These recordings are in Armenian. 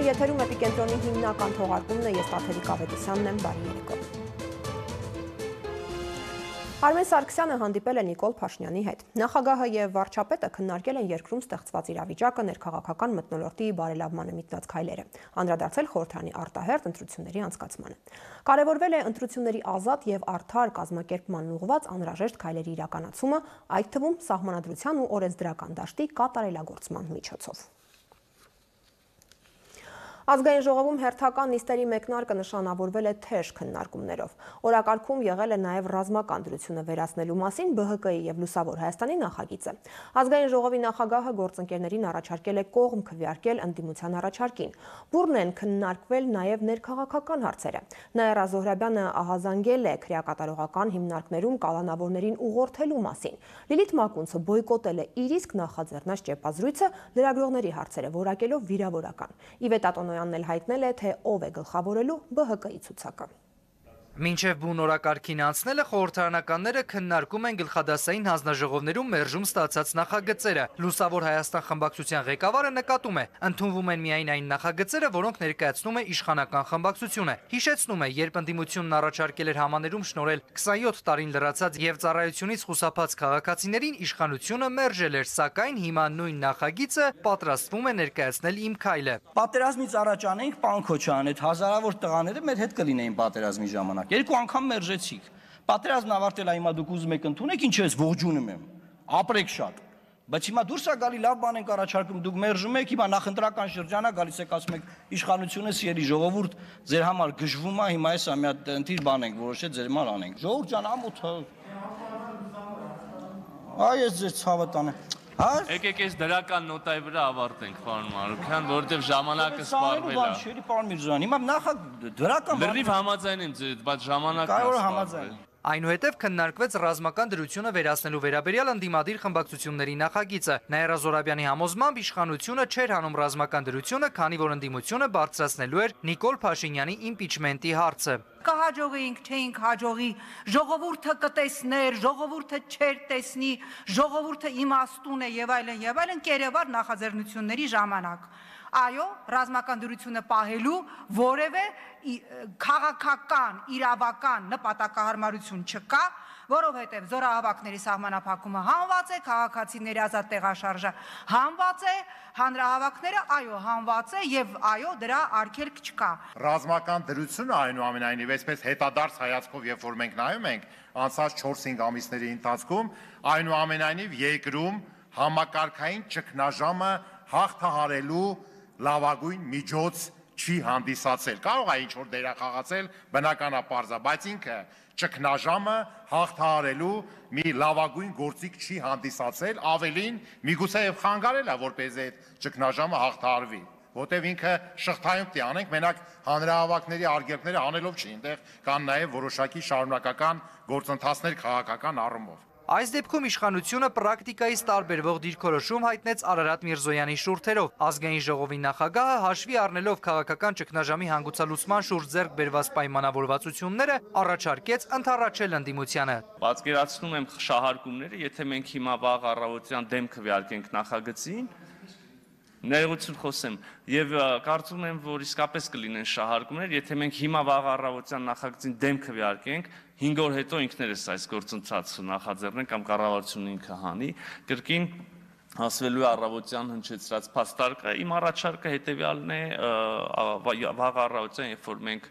եթերում Էպիկենտրոնի հիմնական թողարկումն է, ես Տաթևիկ Ավետիսյանն եմ, բարի երեկո։ Արմեն Սարգսյանը հանդիպել է Նիկոլ Փաշինյանի հետ։ Նախագահը եւ վարչապետը քննարկել են երկրում ստեղծված իրավիճակը, ներքաղաքական մթնոլորտի բարելավմանը միտված քայլերը, անդրադարձել խորհրդարանի արտահերթ ընտրությունների անցկացմանը։ Կարևորվել է ընտրությունների ազատ եւ արդար կազմակերպման ուղղված անհրաժեշտ քայլերի իրականացումը, այդ թվում սահմանադրության ու օրենսդրական դաշտի կատարելագործման միջոցով։ Ազգային ժողովում հերթական նիստերի մեկնարկը նշանավորվել է թեժ քննարկումներով։ Օրակարգում եղել է նաև ռազմական դրությունը վերացնելու մասին ԲՀԿ-ի եւ Լուսավոր Հայաստանի նախագիծը։ Ազգային ժողովի նախագահը գործընկերներին առաջարկել է կողմ քվեարկել ընդդիմության առաջարկին։ Բուրն են քննարկվել նաև ներքաղաքական հարցերը։ Նաիրա Զոհրաբյանը ահազանգել է քրեակատարողական հիմնարկներում կալանավորներին ուղղորդելու մասին։ Լիլիթ Մակունցը բոյկոտել է իր իսկ նախաձեռնած ճեպազրույցը, լրագրողների հարցերը որակելով վիրավորական։ Իվետա Տոնոյանն էլ հայտնել է, թե ով է գլխավորելու ԲՀԿ-ի ցուցակը։ Մինչև բուն օրակարգին անցնելը խորհրդարանականները քննարկում են գլխադասային հանձնաժողովներում մերժում ստացած նախագծերը։ Լուսավոր Հայաստան խմբակցության ղեկավարը նկատում է, ընդունվում են միայն այն նախագծերը, որոնք ներկայացնում է իշխանական խմբակցությունը։ Հիշեցնում է, երբ ընդդիմությունն առաջարկել էր համաներում շնորհել 27 տարին լրացած եւ ծառայությունից խուսափած քաղաքացիներին, իշխանությունը մերժել էր, սակայն հիմա նույն նախագիծը պատրաստվում է ներկայացնել Իմ քայլը։ Պատերազմից առաջ անենք, պարոն Քոչարյան, այդ հազարավոր տղաները մեր հետ կլինեին պատերազմի ժամանակ։ Երկու անգամ մերժեցիք։ Պատերազմն ավարտել է, հիմա դուք ուզում եք ընդունեք, ինչ ես ողջունում եմ։ Ապրեք շատ։ Բայց հիմա դուրս է գալի, լավ բան ենք առաջարկում, դուք մերժում եք, հիմա նախընտրական շրջանա գալիս եք, ասում եք իշխանությունը սիրելի ժողովուրդ ձեր համար գժվում է, հիմա էսա մի հատ ընտիր բան ենք որոշել, ձեր համար անենք։ Ժողովուրդ ջան, ամոթ։ Այ ես ձեր ցավը տանեմ։ Եկեք այս դրական նոտայի վրա ավարտենք, պարոն Մարուքյան, որովհետև ժամանակը սպառվել է։ Շերի պարոն Միրզոյան, հիմա նախ դրական լրիվ համաձայն եմ ձեզ, բայց ժամանակը կարող է համաձայն։ Այնուհետև քննարկվեց ռազմական դրությունը վերացնելու վերաբերյալ ընդդիմադիր խմբակցությունների նախագիծը։ Նաիրա Զոհրաբյանի համոզմամբ իշխանությունը չէր հանում ռազմական դրությունը, քանի որ ընդդիմությունը բարձրացնելու էր Նիկոլ Փաշինյանի իմպիչմենտի հարցը։ Կհաջողեինք, չէինք հաջողի, ժողովուրդը կտեսներ, ժողովուրդը չէր տեսնի, ժողովուրդը իմաստուն է եւ այլն, կերևար նախաձեռնությունների ժամանակ։ Այո, ռազմական դրությունը պահելու որևէ քաղաքական, իրավական նպատակահարմարություն չկա, որովհետև զորահավաքների սահմանափակումը հանված է, քաղաքացիների ազատ տեղաշարժը հանված է, հանրահավաքները այո հանված է եւ այո դրա արգելք չկա։ Ռազմական դրությունը այնուամենայնիվ այսպես հետադարձ հայացքով, երբ որ մենք նայում ենք անցած 4-5 ամիսների ընթացքում, այնուամենայնիվ երկրում համակարգային ճգնաժամը հաղթահարելու լավագույն միջոց չի հանդիսացել։ Կարող է ինչ-որ դերախաղացել, բնականապարզ է, բայց ինքը ճգնաժամը հաղթահարելու մի լավագույն գործիք չի հանդիսացել, ավելին միգուցե եւ խանգարել է, որպեսզի այդ ճգնաժամը հաղթահարվի, որտեւ ինքը շղթայում պիտի անենք, մենակ հանրահավաքների արգելքները անելով չի, այնտեղ կան նաեւ որոշակի շարունակական գործընթացներ քաղաքական առումով։ Այս դեպքում իշխանությունը պրակտիկայից տարբերվող դիրքորոշում հայտնեց Արարատ Միրզոյանի շուրթերով։ Ազգային ժողովի նախագահը հաշվի առնելով քաղաքական ճգնաժամի հանգուցալուծման շուրջ ձեռք բերված պայմանավորվածությունները առաջարկեց ընդառաջել ընդդիմությանը։ Պատկերացնում եմ շահարկումները, եթե մենք հիմա վաղ առավոտյան դեմ քվեարկենք նախագծին, ներողություն խոսեմ, եւ կարծում եմ, որ իսկապես կլինեն շահարկումներ, եթե մենք հիմա վաղ առավոտյան նախագծին դեմ քվեարկենք, 5 օր հետո ինքներս այս գործընթացը նախաձեռնենք կամ կառավարությունը ինքը հանի, կրկին ասվելու է առավոտյան հնչեցրած փաստարկը, իմ առաջարկը հետեւյալն է, վաղ առավոտյան, երբ որ մենք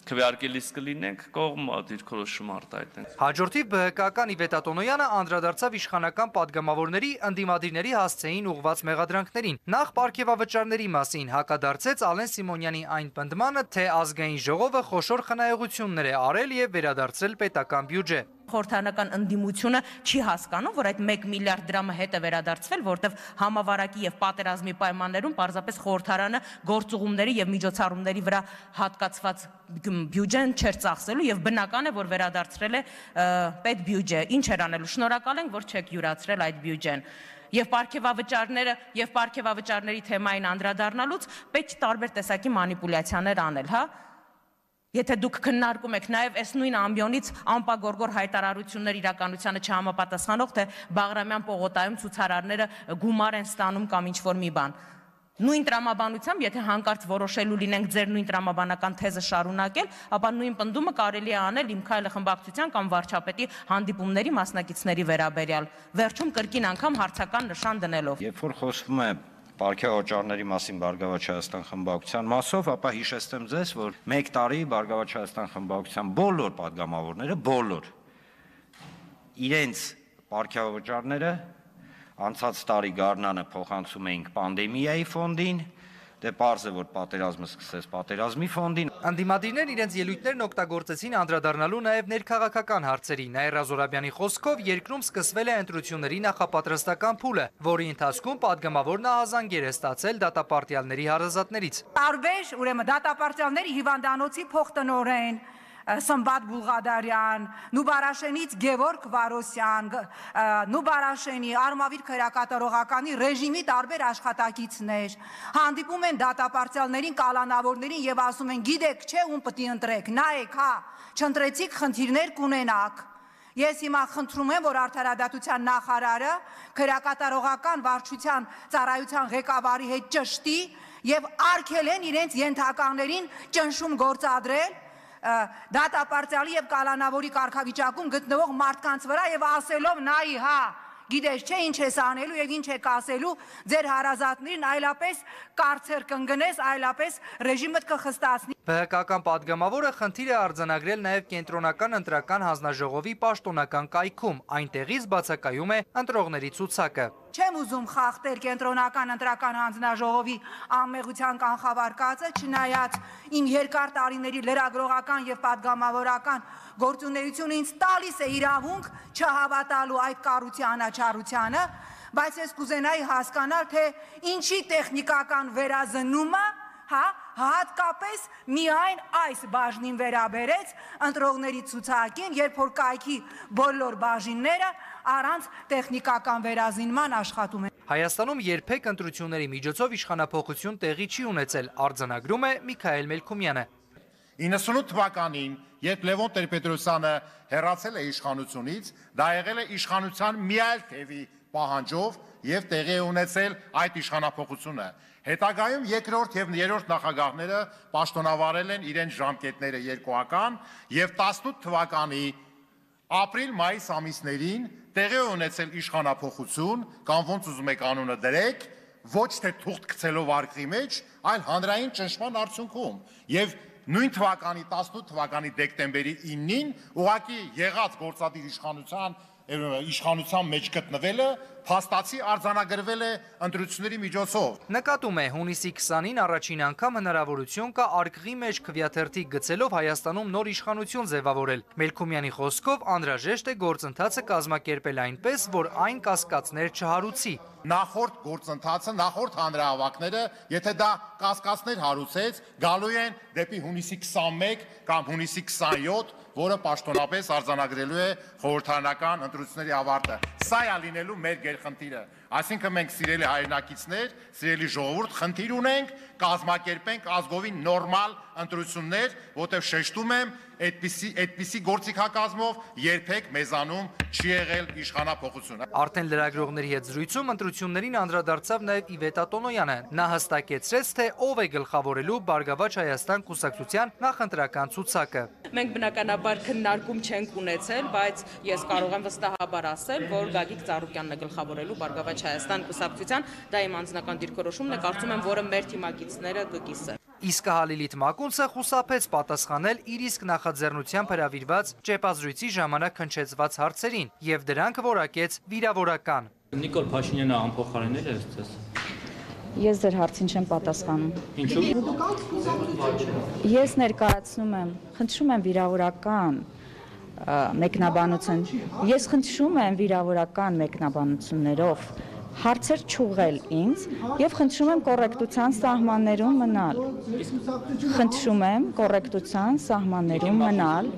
քվեարկելիս կլինենք, կողմ դիրքորոշում արտահայտենք։ Հաջորդիվ ԲՀԿ-ական Իվետա Տոնոյանը անդրադարձավ իշխանական падգամավորների ընդդիմադիրների հասցեին ուղղված մեղադրանքներին։ Նախ պարգևավճարների մասին հակադարձեց Ալեն Սիմոնյանի այն պնդմանը, թե ազգային ժողովը խոշոր խնայողություններ է արել եւ վերադարձրել պետական բյուջե։ Խորհրդարանական ընդդիմությունը չի հասկանում, որ այդ 1 միլիարդ դրամը հետ է վերադարձվել, որտեղ համավարակի եւ պատերազմի պայմաններում պարզապես խորհրդարանը գործուղումների եւ միջոցառումների վրա հատկացված բյուջեն չէր ծախսելու եւ բնական է, որ վերադարձրել է պետ բյուջե։ Ինչ էր անելու։ Շնորհակալ ենք, որ չեք յուրացրել այդ բյուջեն։ Եվ պարգևավճարների թեմային անդրադառնալուց պետք է տարբեր տեսակի մանիպուլյացիաներ անել, հա։ Եթե դուք քննարկում եք նաև այս նույն ամբիոնից անպագորգոր հայտարարություններ իրականությանը չհամապատասխանող, թե Բաղրամյան պողոտայում ցուցարարները գումար են ստանում կամ ինչ-որ մի բան։ Նույն տրամաբանությամբ, եթե հանկարծ որոշելու լինենք ձեր նույն տրամաբանական թեզը շարունակել, ապա նույն պնդումը կարելի է անել Իմ քայլը խմբակցության կամ վարչապետի հանդիպումների մասնակիցների վերաբերյալ, վերջում կրկին անգամ հարցական նշան դնելով։ Երբ որ խոսվում է Պարքեվաճառների մասին Բարգավաճ Հայաստան խմբակցության մասով, ապա հիշեցնեմ ձեզ, որ 1 տարի Բարգավաճ Հայաստան խմբակցության բոլոր падգամավորները, բոլոր իրենց պարքեվաճառները անցած տարի գարնանը փոխանցում էինք պանդեմիայի ֆոնդին, դե պարզ է, որ պատերազմը սկսեց պատերազմի ֆոնդին։ Անդիմադիրներն իրենց ելույթներն օգտագործեցին անդրադառնալու նաև ներքաղաքական հարցերի։ Նաիրա Զորաբյանի խոսքով երկրում սկսվել է ընտրությունների նախապատրաստական փուլը, որի ընթացքում падգամավորն ահազանգեր է ստացել դատապարտյալների հարազատներից։ Տարբեր, ուրեմն դատապարտյալների հիվանդանոցի փոխտնօրեն Սմբատ Բուլղադարյան, Նուբարաշենից Գևորգ Վարոսյան, Նուբարաշենի Արմավիր քրեակատարողականի ռեժիմի տարբեր աշխատակիցներ հանդիպում են դատապարտյալներին, կալանավորներին եւ ասում են՝ գիտեք, չէ, ում պիտի ընտրեք, նայեք, հա, չընտրեցիք, խնդիրներ կունենաք։ Ես հիմա խնդրում եմ, որ արդարադատության նախարարը քրեակատարողական վարչության ծառայության ղեկավարի հետ ճշտի եւ արգելեն իրենց ենթականերին ճնշում գործադրել դատապարտյալի եւ կալանավորի կարգավիճակում գտնվող մարդկանց վրա եւ ասելով նայի, հա, գիտես չէ ինչ ես անելու եւ ինչ եք ասելու ձեր հարազատներին, այլապես կարծեր կընկնես, այլապես ռեժիմը կխստացնի։ ԲՀԿ-ական падգամավորը խնդիր է արձանագրել նաև կենտրոնական ընտրական հանձնաժողովի պաշտոնական կայքում, այնտեղից բացակայում է ընտրողների ցուցակը։ Չեմ ուզում խախտել կենտրոնական ընտրական հանձնաժողովի անմեղության կանխավարկածը, չնայած իմ երկար տարիների լրագրողական եւ падգամավորական գործունեությունը ինձ տալիս է իրավունք չհավատալու այդ կառույցի անաչառությանը, բայց ես կուզենայի հասկանալ, թե ինչի տեխնիկական վերազնումը, հա, հատկապես միայն այս բաժնին վերաբերեց ընտրողների ցուցակին, երբ որ կայքի բոլոր բաժինները առանց տեխնիկական վերազինման աշխատում են։ Հայաստանում երբեք ընտրությունների միջոցով իշխանափոխություն տեղի չի ունեցել, արձանագրում է Միքայել Մելքումյանը։ 98 թվականին, երբ Լևոն Տեր-Պետրոսյանը հեռացել է իշխանությունից, դա եղել է իշխանության մի այլ թևի պահանջով եւ տեղի է ունեցել այդ իշխանափոխությունը։ Հետագայում երկրորդ եւ երրորդ նախագահները պաշտոնավարել են իրենց ժամկետները երկուական եւ 18 թվականի ապրիլ-մայիս ամիսներին տեղի է ունեցել իշխանափոխություն, կամ ոնց ուզում եք անունը դրեք, ոչ թե թուղթ գցելով արկղի մեջ, այլ հանրային ճնշման արդյունքում։ Եվ նույն թվականի 18 թվականի դեկտեմբերի 9-ին ուղղակի եղած գործադիր իշխանության մեջ գտնվելը փաստացի արձանագրվել է ընտրությունների միջոցով։ Նկատում է հունիսի 20-ին առաջին անգամ հնարավորություն կա արկղի մեջ քվեաթերթիկ գցելով Հայաստանում նոր իշխանություն ձևավորել։ Մելքումյանի խոսքով անհրաժեշտ է գործընթացը կազմակերպել այնպես, որ այն կասկածներ չհարուցի։ Նախորդ գործընթացը, նախորդ հանրահավաքները, եթե դա կասկածներ հարուցեց, գալու են դեպի հունիսի 21 կամ հունիսի 27, որը պաշտոնապես արձանագրելու է խորհրդարանական ընտրությունների ավարտը։ Սա է լինելու մեր գերխնդիրը։ Այսինքն մենք սիրելի հայրենակիցներ, սիրելի ժողովուրդ, խնդիր ունենք կազմակերպենք ազգովին նորմալ ընտրություններ, որտեղ շեշտում եմ, այդպիսի գործիքակազմով երբեք մեզանում չի եղել իշխանափոխությունը։ Արդեն լրագրողների հետ զրույցում ընտրություններին անդրադարձավ նաև Իվետ Ատոնոյանը։ Նա հստակեցրեց, թե ով է գլխավորելու Բարգավաճ Հայաստան կուսակցության նախընտրական ցուցակը։ Մենք բնականաբար քննարկում չենք ունեցել, բայց ես կարող եմ վստահաբար ասել, որ Գագիկ Ծառուկյանն է գլխավորելու Բարգավաճ Հայաստան կուսակցության, դա իմ անձնական դիրքորոշումն է, կարծում եմ, որը մեր թիմակիցները կկիսեն։ Իսկ Հալիլիթ Մակունցը խուսափեց պատասխանել իր իսկ նախաձեռնությամբ հրավիրված ճեպազրույցի ժամանակ հնչեցված հարցերին եւ դրանք որակեց վիրավորական։ Նիկոլ Փաշինյանը անփոխարինել է ձեզ։ Ես ձեր հարցին չեմ պատասխանում։ Ինչու՞։ Ես ներկայացնում եմ, խնդրում եմ վիրավորական մեկնաբանություն։ Ես խնդրում եմ վիրավորական մեկնաբանություններով հարցեր չուղղել ինձ եւ խնդրում եմ կոռեկտության սահմաններում մնալ։ Խնդրում եմ կոռեկտության սահմաններում մնալ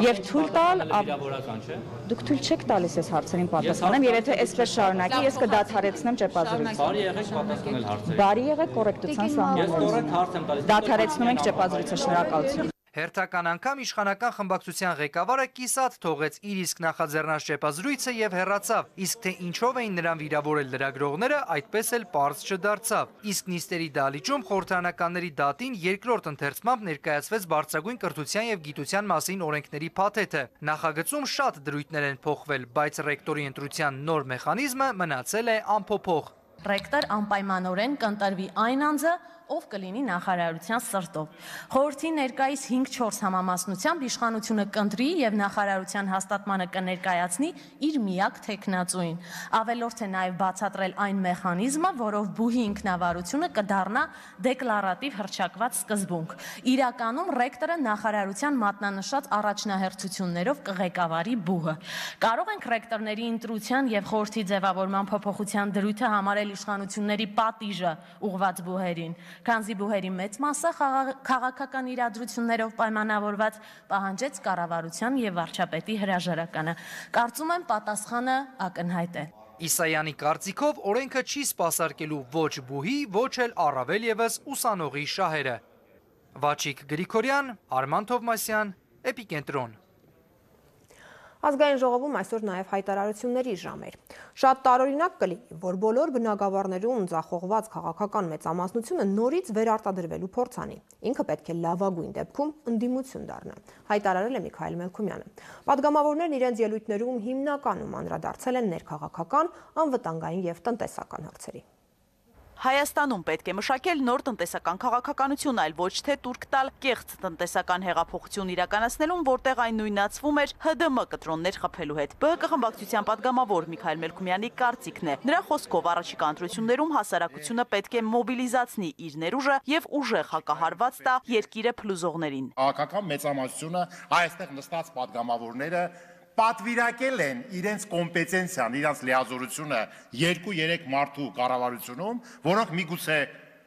եւ թույլ տալ վիրավորական չէ։ Դուք թույլ չեք տալիս այս հարցերին պատասխանեմ, եւ եթե այսպես շարունակի, ես կդադարեցնեմ ճեպազրույցը։ Բարի եղեք պատասխանել հարցերին։ Բարի եղեք կոռեկտության սահմաններում։ Ես կոռեկտ հարց եմ տալիս։ Դադարեցնում ենք ճեպազրույցը, շնորհակալություն։ Հերթական անգամ իշխանական խմբակցության ղեկավարը կիսատ թողեց իր իսկ նախաձեռնած շեպազրույցը եւ հեռացավ, իսկ թե ինչով էին նրան վիրավորել լրագրողները, այդպես էլ պարզ չդարձավ։ Իսկ նիստերի դահլիճում խորհրդարանականների դատին երկրորդ ընթերցմամբ ներկայացվեց բարձրագույն կրթության եւ գիտության մասին օրենքների փաթեթը։ Նախագծում շատ դրույթներ են փոխվել, բայց ռեկտորի ընտրության նոր մեխանիզմը մնացել է անփոփոխ։ Ռեկտոր անպայմանորեն կընտրվի այն անձը, ով կլինի նախարարության սրտով։ Խորհրդի ներկայիս 5-4 համամասնությամբ իշխանությունը կընտրի եւ նախարարության հաստատմանը կներկայացնի իր միակ թեկնածուին։ Ավելորդ է նաեւ բացատրել այն մեխանիզմը, որով բուհի ինքնավարությունը կդառնա դեկլարատիվ հռչակված սկզբունք։ Իրականում ռեկտորը նախարարության մատնանշած առաջնահերթություններով կղեկավարի բուհը։ Կարող ենք ռեկտորների ընտրության եւ խորհրդի ձևավորման փոփոխության դրույթը համարել իշխանությունների պատիժը ուղղված բուհերին, քանզի բուհերի մեծ մասը քաղաքական իրադրություններով պայմանավորված պահանջեց կառավարության եւ վարչապետի հրաժարականը։ Կարծում եմ պատասխանը ակնհայտ է։ Իսայանի կարծիքով օրենքը չի սպասարկելու ոչ բուհի, ոչ էլ առավել եւս ուսանողի շահերը։ Վաչիկ Գրիգորյան, Արման Թովմասյան, Էպիկենտրոն։ Ազգային ժողովում այսօր նաև հայտարարությունների ժամ էր։ Շատ տարօրինակ կլինի, որ բոլոր բնակավարներում ձախողված քաղաքական մեծամասնությունը նորից վերարտադրվելու փորձ անի։ Ինքը պետք է լավագույն դեպքում ընդդիմություն դառնա, հայտարարել է Միքայել Մելքումյանը։ Պատգամավորներն իրենց ելույթներում հիմնականում անդրադարձել են ներքաղաքական, անվտանգային եւ տնտեսական հարցերի։ Հայաստանում պետք է մշակել նոր տնտեսական քաղաքականություն, այլ ոչ թե տուրք տալ կեղծ տնտեսական հեղափոխություն իրականացնելուն, որտեղ այն նույնացվում էր ՀԴՄ կտրոններ խփելու հետ։ ԲՀԿ խմբակցության պատգամավոր Միքայել Մելքումյանի կարծիքն է։ Նրա խոսքով առաջիկա ընտրություններում հասարակությունը պետք է մոբիլիզացնի իր ներուժը եւ ուժեղ հակահարված տա երկիրը փլուզողներին։ Քաղաքական մեծամասնությունը այստեղ նստած պատգամավորները պատվիրակել են իրենց կոմպետենցիան, իրենց լիազորությունը 2-3 մարդու կառավարությունում, որոնք միգուցե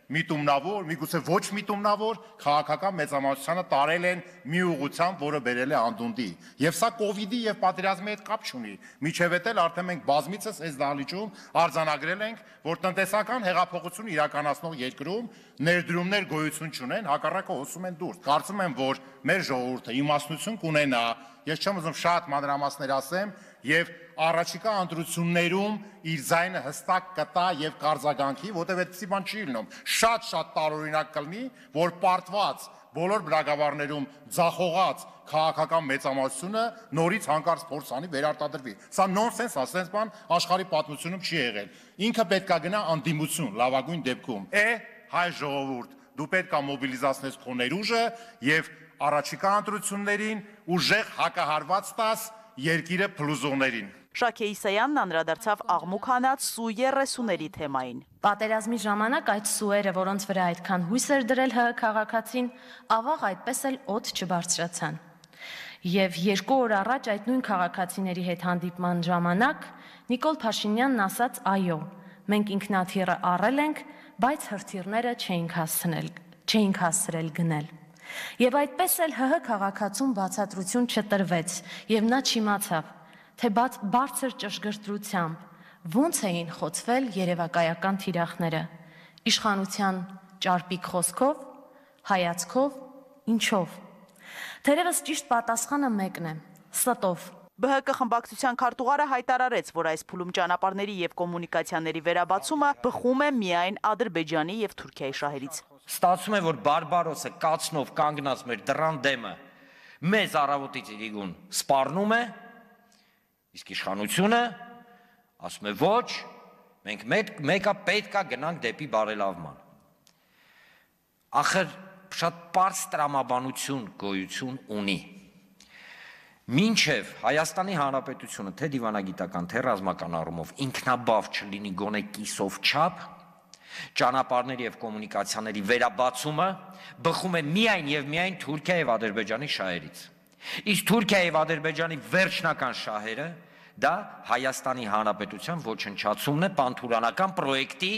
միտումնավոր, միգուցե ոչ միտումնավոր քաղաքական մեծամասնությանը տարել են մի ուղղությամբ, որը բերել է անդունդի։ Եվ սա կովիդի եւ պատերազմի հետ կապ չունի։ Միջև էլ արդեն մենք բազմիցս այս դահլիճում արձանագրել ենք, որ տնտեսական հեղափոխություն իրականացնող երկրում ներդրումներ գոյություն չունեն, հակառակը հոսում են դուրս։ Կարծում եմ, որ մեր ժողովուրդը իմաստնություն կունենա, ես չեմ ուզում շատ մանրամասներ ասեմ, եւ առաջիկա ընտրություններում իր ձայնը հստակ կտա եւ կարձագանքի, որտեղ այդպիսի բան չի լինում։ Շատ տարօրինակ կլինի, որ պարտված բոլոր բնակավարներում ձախողած քաղաքական մեծամասնությունը նորից հանկարծ փորձ անի վերարտադրվի։ Սա նոնսենս, ասենց բան աշխարհի պատմությունում չի եղել։ Ինքը պետքա գնա անդիմություն, լավագույն դեպքում։ Հայ ժողովուրդ, դու պետքա մոբիլիզացնես քո ներուժը եւ առաջիկա ընտրություններին ուժեղ հակահարված տաս երկիրը փլուզողներին։ Շաքե Իսայանն անդրադարձավ աղմուկ հանած սու 30-ների թեմային։ Պատերազմի ժամանակ այդ սուերը, որոնց վրա այդքան հույս էր դրել ՀՀ քաղաքացին, ավաղ այդպես էլ օդ չբարձրացան։ Եվ 2 օր առաջ այդ նույն քաղաքացիների հետ հանդիպման ժամանակ Նիկոլ Փաշինյանն ասաց այո, մենք ինքնաթիռը առել ենք, բայց հրթիռները չէինք հասցրել գնել։ Եվ այդպես էլ ՀՀ քաղաքացուն բացատրություն չտրվեց, եւ նա չիմացավ, թե բարձր ճշգրտությամբ ոնց էին խոցվել երևակայական թիրախները, իշխանության ճարպիկ խոսքով, հայացքով, ինչով։ Թերևս ճիշտ պատասխանը մեկն է՝ ստով։ ԲՀԿ խմբակցության քարտուղարը հայտարարեց, որ այս փուլում ճանապարհների եւ կոմունիկացիաների վերաբացումը բխում է միայն Ադրբեջանի եւ Թուրքիայի շահերից։ Ստացվում է, որ Բարբարոսը կացնով կանգնած մեր դռան դեմը մեզ առավոտից իրիկուն սպառնում է, իսկ իշխանությունը ասում է ոչ, մենք մեկա պետքա գնանք դեպի բարելավման։ Ախր շատ պարզ տրամաբանություն գոյություն ունի։ Մինչև Հայաստանի Հանրապետությունը թե դիվանագիտական, թե ռազմական առումով ինքնաբավ չլինի գոնե կիսով չափ, ճանապարհների եւ կոմունիկացիաների վերաբացումը բխում է միայն եւ միայն Թուրքիա եւ Ադրբեջանի շահերից։ Իսկ Թուրքիա եւ Ադրբեջանի վերջնական շահերը դա Հայաստանի Հանրապետության ոչնչացումն է պանթուրանական պրոյեկտի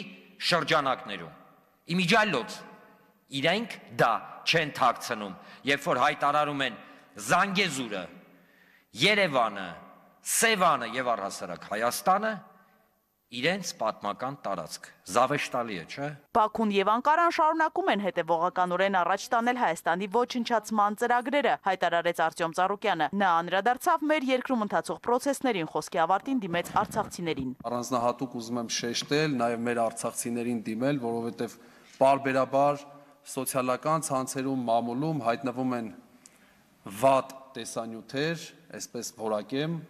շրջանակներում։ Իմիջիալոց իրենք դա չեն թաքցնում, երբ որ հայտարարում են Զանգեզուրը, Երևանը, Սևանը եւ առհասարակ Հայաստանը իրենց պատմական տարածք։ Զավեշտալի է, չէ՞։ Բաքուն եւ Անկարան շարունակում են հետևողականորեն առաջ տանել Հայաստանի ոչնչացման ծրագրերը, հայտարարեց Արտյոմ Ծառուկյանը։ Նա անդրադարձավ մեր երկրում ընթացող process-ներին, խոսքի ավարտին դիմեց արցախցիներին։ Առանձնահատուկ ուզում եմ շեշտել նաեւ մեր արցախցիներին դիմել, որովհետեւ բարբերաբար սոցիալական ցանցերում, մամուլում հայտնվում են վատ տեսանյութեր, այսպես որակեմ։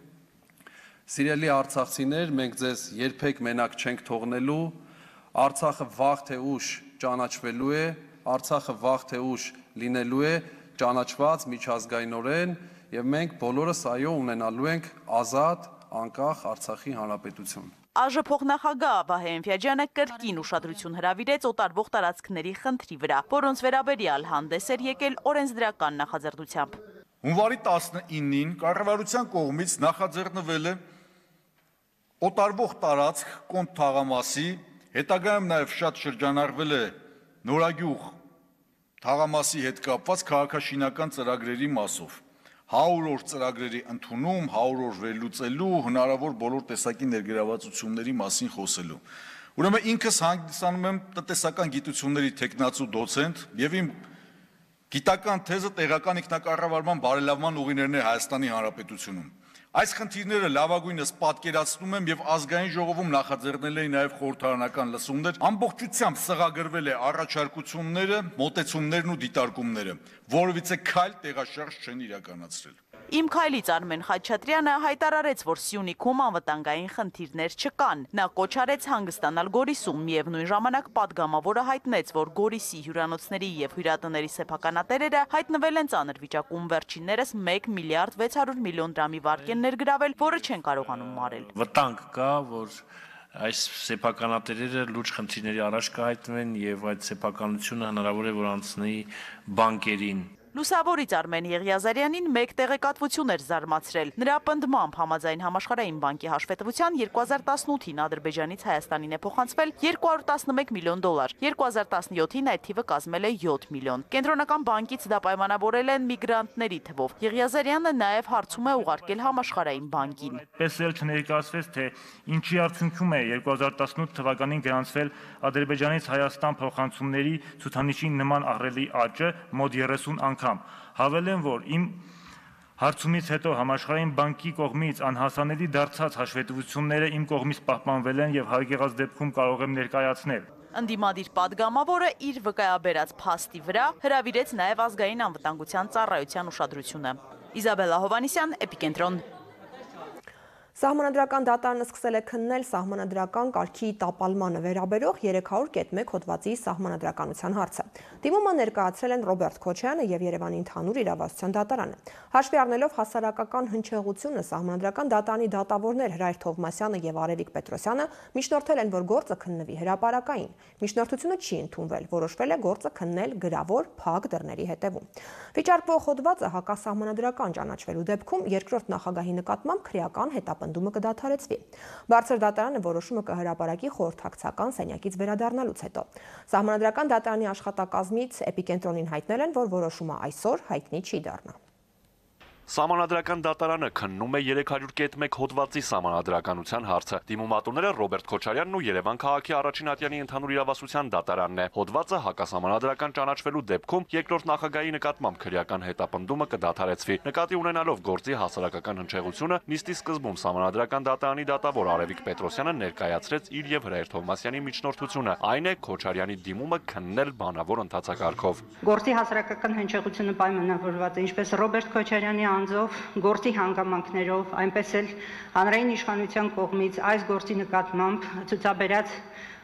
Սիրելի արցախցիներ, մենք ձեզ երբեք մենակ չենք թողնելու, Արցախը վաղ թե ուշ ճանաչվելու է, Արցախը վաղ թե ուշ լինելու է ճանաչված միջազգայինորեն եւ մենք բոլորս այո ունենալու ենք ազատ, անկախ Արցախի հանրապետություն։ ԱԺ փոխնախագահ Վահե Էնֆյաջյանը կրկին ուշադրություն հրավիրեց օտարվող տարածքների խնդրի վրա, որոնց վերաբերյալ հանդես էր եկել օրենսդրական նախաձեռնությամբ։ Հունվարի 19-ին կառավարության կողմից նախաձեռնվել է օտարվող տարածք Կոնտ թաղամասի, հետագայում նաև շատ շրջանառվել է Նորագյուղ թաղամասի հետ կապված քաղաքաշինական ծրագրերի մասով։ 100 օր ծրագրերի ընդունում, 100 օր վերլուծելու, հնարավոր բոլոր տեսակի ներգրավվածությունների մասին խոսելու։ Ուրեմն ինքս հանդիսանում եմ տնտեսական գիտությունների թեկնածու դոցենտ եւ իմ գիտական թեզը տեղական ինքնակառավարման բարելավման ուղիներն է Հայաստանի Հանրապետությունում։ Այս խնդիրները լավագույնս պատկերացնում եմ եւ ազգային ժողովում նախաձեռնել էին նաեւ խորհրդարանական լսումներ, ամբողջությամբ սղագրվել է առաջարկությունները, մոտեցումներն ու դիտարկումները, որովհետեւ քայլ տեղաշարժ չեն իրականացրել։ Իմ քայլից Արմեն Խաչատրյանը հայտարարեց, որ Սյունիքում անվտանգային խնդիրներ չկան։ Նա կոչ արեց հանգստանալ Գորիսում, միևնույն ժամանակ պատգամավորը հայտնեց, որ Գորիսի հյուրանոցների եւ հյուրատների սեփականատերերը հայտնվել են ծանր վիճակում, վերջիններս 1 միլիարդ 600 միլիոն դրամի վարկ են ներգրավել, որը չեն կարողանում մարել։ Վտանգ կա, որ այս սեփականատերերը լուրջ խնդիրների առաջ կհայտնվեն եւ այդ սեփականությունը հնարավոր է որ անցնի բանկերին։ Լուսավորից Արմեն Եղիազարյանին մեկ տեղեկատվություն էր զարմացրել։ Նրա պնդմամբ համաձայն Համաշխարհային բանկի հաշվետվության 2018-ին Ադրբեջանից Հայաստանին է փոխանցվել 211 միլիոն դոլար, 2017-ին այդ թիվը կազմել է 7 միլիոն։ Կենտրոնական բանկից դա պայմանավորել են միգրանտների թվով։ Եղիազարյանը նաև հարցում է ուղարկել Համաշխարհային բանկին։ Պես էլ չներկայացվեց, թե ինչի արդյունքում է 2018 թվականին գրանցվել Ադրբեջանից Հայաստան փոխանցումների ցուցանիշի նման ահռելի աճը մոտ 30 անգամ։ Հավելեմ, որ իմ հարցումից հետո Համաշխարհային բանկի կողմից անհասանելի դարձած հաշվետվությունները իմ կողմից պահպանվել են եւ հարգեղած դեպքում կարող եմ ներկայացնել։ Ընդդիմադիր պատգամավորը իր վկայաբերած փաստի վրա հրավիրեց նաեւ ազգային անվտանգության ծառայության ուշադրությունը։ Իզաբելլա Հովանիսյան, Էպիկենտրոն։ Սահմանադրական դատարանը սկսել է քննել սահմանադրական կարգի տապալմանը վերաբերող 301 հոդվածի սահմանադրականության հարցը։ Դիմումը ներկայացրել են Ռոբերտ Քոչարյանը եւ Երևանի ընդհանուր իրավասության դատարանը։ Հաշվի առնելով հասարակական հնչեղությունը սահմանադրական դատարանի դատավորներ Հրայր Թովմասյանը եւ Արևիկ Պետրոսյանը միջնորդել են, որ գործը քննվի հրապարակային։ Միջնորդությունը չի ընդունվել, որոշվել է գործը քննել գրավոր փակ դռների հետևում։ Վիճարկվող հոդվածը հակասահմանադրական ճանաչվելու դեպքում երկրորդ նախագահի նկատմամբ քրեական հետապնդումը կդադարեցվի։ Բարձր դատարանը որոշումը կհրապարակի խորհրդակցական սենյակից վերադառնալուց հետո։ Սահմանադրական դատարանի աշխատակազմից Էպիկենտրոնին հայտնել են, որ որոշումը այսօր հայտնի չի դառնա։ Սահմանադրական դատարանը քննում է 301 հոդվածի սահմանադրականության հարցը։ Դիմումատուները Ռոբերտ Քոչարյանն ու Երևան քաղաքի առաջին ատյանի ընդհանուր իրավասության դատարանն է։ Հոդվածը հակասահմանադրական ճանաչվելու դեպքում երկրորդ նախագահի նկատմամբ քրեական հետապնդումը կդադարեցվի։ Նկատի ունենալով գործի հասարակական հնչեղությունը, նիստի սկզբում սահմանադրական դատարանի դատավոր Արևիկ Պետրոսյանը ներկայացրեց իր եւ Հրայր Թովմասյանի միջնորդությունը, այն է Քոչարյանի դիմումը քննել բանավոր ընթացակարգով։ Գործի հասարակական հնչեղությունը պայմանավորված է ինչպես Ռոբերտ Քոչարյանի անձով, գործի հանգամանքներով, այնպես էլ հանրային իշխանության կողմից այս գործի նկատմամբ ցուցաբերած,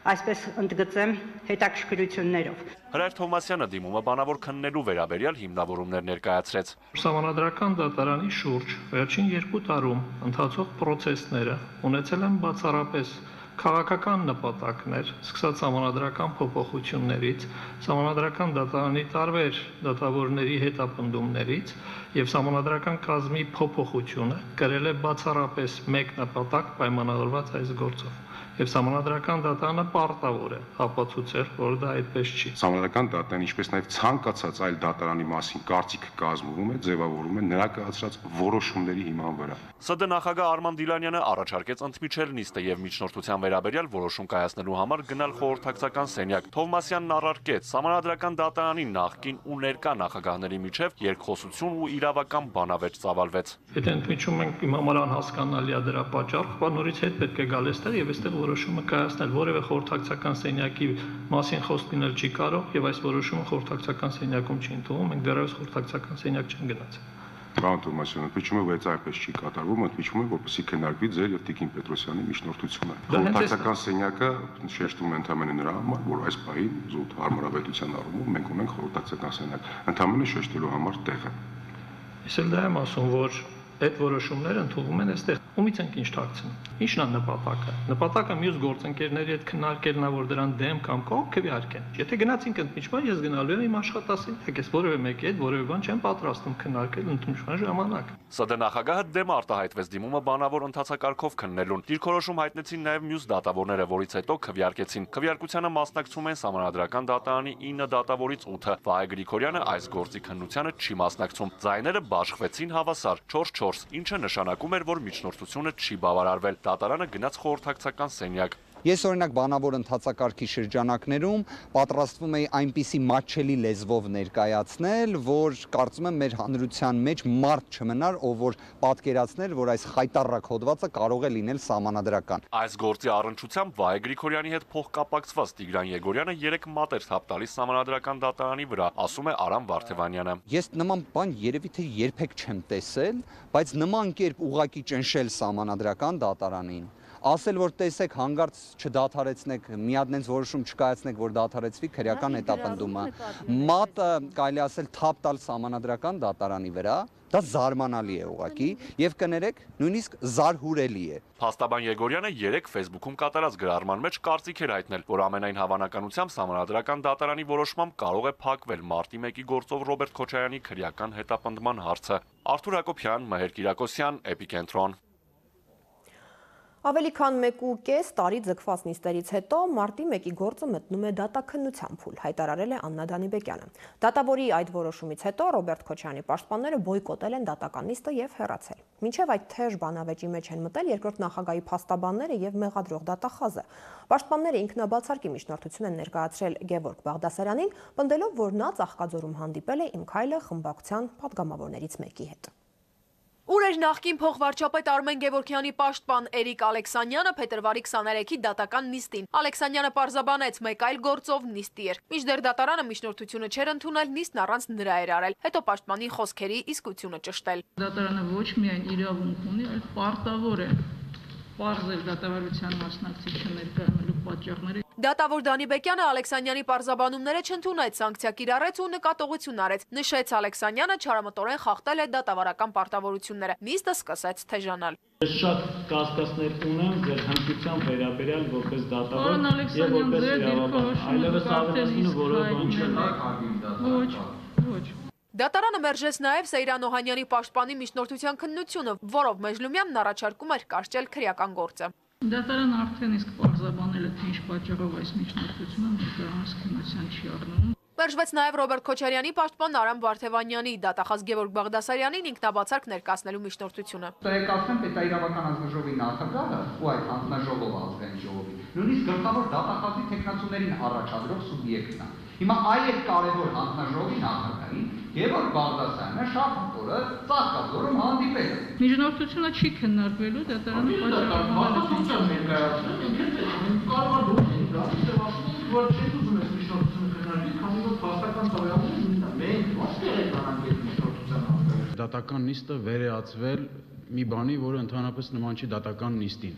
այսպես ընդգծեմ, հետաքրքրություններով։ Հրայր Թովմասյանը դիմումը բանավոր քննելու վերաբերյալ հիմնավորումներ ներկայացրեց։ Սահմանադրական դատարանի շուրջ վերջին 2 տարում ընթացող process-ները ունեցել են բացառապես քաղաքական նպատակներ, սկսած սահմանադրական փոփոխություններից, սահմանադրական դատարանի տարբեր դատավորների հետապնդումներից եւ սահմանադրական կազմի փոփոխությունը կրել է բացառապես մեկ նպատակ պայմանավորված այս գործով։ Եվ Սահմանադրական դատարանը պարտավոր է ապացուցել, որ դա այդպես չի։ Սահմանադրական դատարանը, ինչպես նաև ցանկացած այլ դատարանի մասին կարծիք կազմվում է, ձևավորվում է նրա կայացրած որոշումների հիման վրա։ ՍԴ նախագահ Արման Դիլանյանը առաջարկեց ընդմիջել նիստը եւ միջնորդության վերաբերյալ որոշում կայացնելու համար գնալ խորհրդակցական սենյակ։ Թովմասյանն առարկեց Սահմանադրական դատարանի նախկին ու ներկա նախագահների միջև երկխոսություն ու իրավական բանավեճ ծավալվեց։ Եթե ընդմիջում ենք, իմ համար անհասկանալի է դրա պատճառը, նորից հետ պետք է գալ այստեղ եւ այստեղ որոշումը կայացնել, որևէ խորհրդակցական սենյակի մասին խոսք լինել չի կարող եւ այս որոշումը խորհրդակցական սենյակում չի ընդունվում, մենք դեռևս խորհրդակցական սենյակ չենք գնացել։ Պարոն Թովմասյան, ընդմիջումը բայց այնպես չի կատարվում, ընդմիջումը որպեսզի քննարկվի ձեր եւ Տիկին Պետրոսյանի միջնորդությունը։ Խորհրդակցական սենյակը շեշտում է ընդհանրապես նրա համար, որ այս պահին զուտ հարմարավետության առումով մենք ունենք խորհրդակցական սենյակ, ընդհանրապես շեշտելու համար տեղը։ Ես էլ դա եմ ասում, որ այդ որոշումները ընդունվում են այստեղ։ Ումից ենք ինչ թաքցնում։ Ինչն է նպատակը։ Նպատակը մյուս գործընկերների հետ քննարկելն է, որ դրան դեմ կամ կողմ քվեարկեն։ Եթե գնացինք ընդմիջման, ես գնալու եմ իմ աշխատասենյակ, ես որևէ մեկի հետ որևէ բան չեմ պատրաստում քննարկել ընդմիջման ժամանակ։ ՍԴ նախագահը դեմ արտահայտվեց դիմումը բանավոր ընթացակարգով քննելուն։ Դիրքորոշում հայտնեցին նաև մյուս դատավորները, որից հետո քվեարկեցին։ Քվեարկությանը մասնակցում են Սահմանադրական դատարանի 9 դատավորից 8-ը։ Վահե Գրիգորյանը այս գործի քննությանը չի մասնակցում։ Ձայները բաշխվեցին հավասար 4-4, ինչը նշանակում էր, որ միջնորդությունը չի բավարարվել։ Դատարանը գնաց խորհրդակցական սենյակ։ Ես օրինակ բանավոր ընթացակարգի շրջանակներում պատրաստվում էի այնպիսի մատչելի լեզվով ներկայացնել, որ կարծում եմ մեր հանրության մեջ մարդ չմնար, ով որ պատկերացներ, որ այս խայտառակ հոդվածը կարող է լինել սահմանադրական։ Այս գործի առնչությամբ Վահե Գրիգորյանի հետ փոխկապակցված Տիգրան Եգորյանը 3 մատ էր թափ տալիս Սահմանադրական դատարանի վրա, ասում է Արամ Վարդևանյանը։ Ես նման բան երևի թե երբեք չեմ տեսել, բայց նման կերպ ուղակի ճնշել Սահմանադրական դատարանին, ասել, որ տեսեք, հանգարց չդադարեցնեք, մի հատ նենց որոշում չկայացնեք, որ դադարեցվի քրեական հետապնդումը։ Մատը կարելի ասել թափ տալ Սահմանադրական դատարանի վրա, դա զարմանալի է ուղղակի եւ կներեք, նույնիսկ զարհուրելի է։ Փաստաբան Եգորյանը 3 Facebook-ում կատարած գրառման մեջ կարծիք էր հայտնել, որ ամենայն հավանականությամբ Սահմանադրական դատարանի որոշմամբ կարող է փակվել մարտի 1-ի գործով Ռոբերտ Քոչարյանի քրեական հետապնդման հարցը։ Արթուր Հակոբյան, Մհեր Կիրակոսյան, Էպիկենտրոն։ Ավելի քան 1.5 տարի ձգված նիստերից հետո մարտի 1-ի գործը մտնում է դատաքննության փուլ, հայտարարել է Աննա Դանիբեկյանը։ Դատավորի այդ որոշումից հետո Ռոբերտ Քոչարյանի պաշտպանները բոյկոտել են դատական նիստը եւ հեռացել։ Մինչև այդ թեժ բանավեճի մեջ են մտել երկրորդ նախագահի փաստաբանները եւ մեղադրող դատախազը։ Պաշտպանները ինքնաբացարկի միջնորդություն են ներկայացրել Գևորգ Բաղդասարյանին, պնդելով, որ նա Ծաղկաձորում հանդիպել է Իմ քայլը խմբակցության պատգամավորներից մեկի հետ։ Ուր էր նախկին փոխվարչապետ Արմեն Գևորգյանի պաշտպան Էրիկ Ալեքսանյանը փետրվարի 23-ի դատական նիստին։ Ալեքսանյանը պարզաբանեց մեկ այլ գործով նիստի էր։ Մինչդեռ դատարանը միջնորդությունը չէր ընդունել, նիստն առանց նրա էր արել։ Հետո պաշտպանի խոսքերի իսկությունը ճշտել։ Դատարանը ոչ միայն իրավունք ունի, այլ պարտավոր է պարզել դատավարության մասնակցիչը ներկայանալու պատճառները։ Դատավոր Դանիբեկյանը Ալեքսանյանի պարզաբանումները չընդունեց, սանկցիա կիրառեց ու նկատողություն արեց։ Նշեց Ալեքսանյանը չարամտորեն խախտել է դատավարական պարտավորությունները։ Նիստը սկսեց թեժանալ։ Ես շատ կասկածներ ունեմ ձեր հմտության վերաբերյալ որպես դատավոր եւ որպես իրավաբան։ Այլևս ավելացնելու որոշում չեմ։ Ոչ։ Դատարանը մերժեց նաև Սեյրան Օհանյանի պաշտպանի միջնորդության քննությունը, որով Մեժլումյանն առաջարկում էր կարճել քրեական գործը։ Դատարանը արդեն իսկ պարզաբանել է, թե ինչ պատճառով այս միջնորդությունը ներկայումս քննության չի առնում։ Մերժվեց նաև Ռոբերտ Քոչարյանի պաշտպան Արամ Վարդևանյանի, դատախազ Գևորգ Բաղդասարյանին ինքնաբացարկ ներկայացնելու միջնորդությունը։ Տեղեկացնեմ պետաիրավական հանձնաժողովի նախագահը ու այդ հանձնաժողովը ազգային ժողովի նույնիսկ գլխավոր դատախազի տեխնացուներին առաջադրող սուբյեկտն է։ Հիմա այդ կարևոր հանձնաժողովի նախագահին Գևորգ Բաղդասարյանը շաբաթօրը Ծաղկաձորում հանդիպել է։ Միջնորդությունը չի քննարկվելու, դատարանը Դատական նիստը վերեացվել մի բանի, որը ընդհանրապես նման չի դատական նիստին։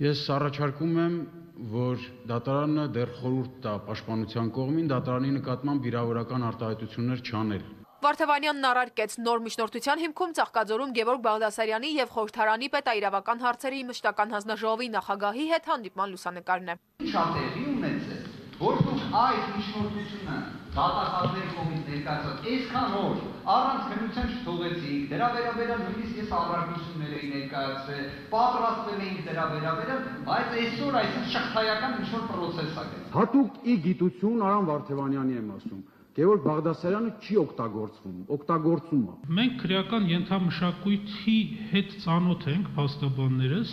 Ես առաջարկում եմ, որ դատարանը դեռ խորհուրդ տա պաշտպանության կողմին դատարանի նկատմամբ վիրավորական արտահայտություններ չանել։ Վարդևանյանն առարկեց նոր միջնորդության հիմքում Ծաղկաձորում Գևորգ Բաղդասարյանի եւ խորհրդարանի պետաիրավական հարցերի մշտական հանձնաժողովի նախագահի հետ հանդիպման լուսանկարն է։ Շատ տեղի ունեցել, որ դուք այս միջնորդությունը դատախազների կողմից ներկայացած այսքան օր առանց քննության չթողեցիք, դրա վերաբերյալ նույնիսկ ես առարկություններ էի ներկայացրել, պատրաստվել էինք դրա վերաբերյալ, բայց այսօր այս շղթայական ինչ-որ պրոցես ա գնում։ Հատուկ ի գիտություն Արամ Վարդևանյանի եմ ասում։ Գևորգ Բաղդասարյանը չի օգտագործում է։ Մենք քրեական ենթամշակույթի հետ ծանոթ ենք փաստաբաններս,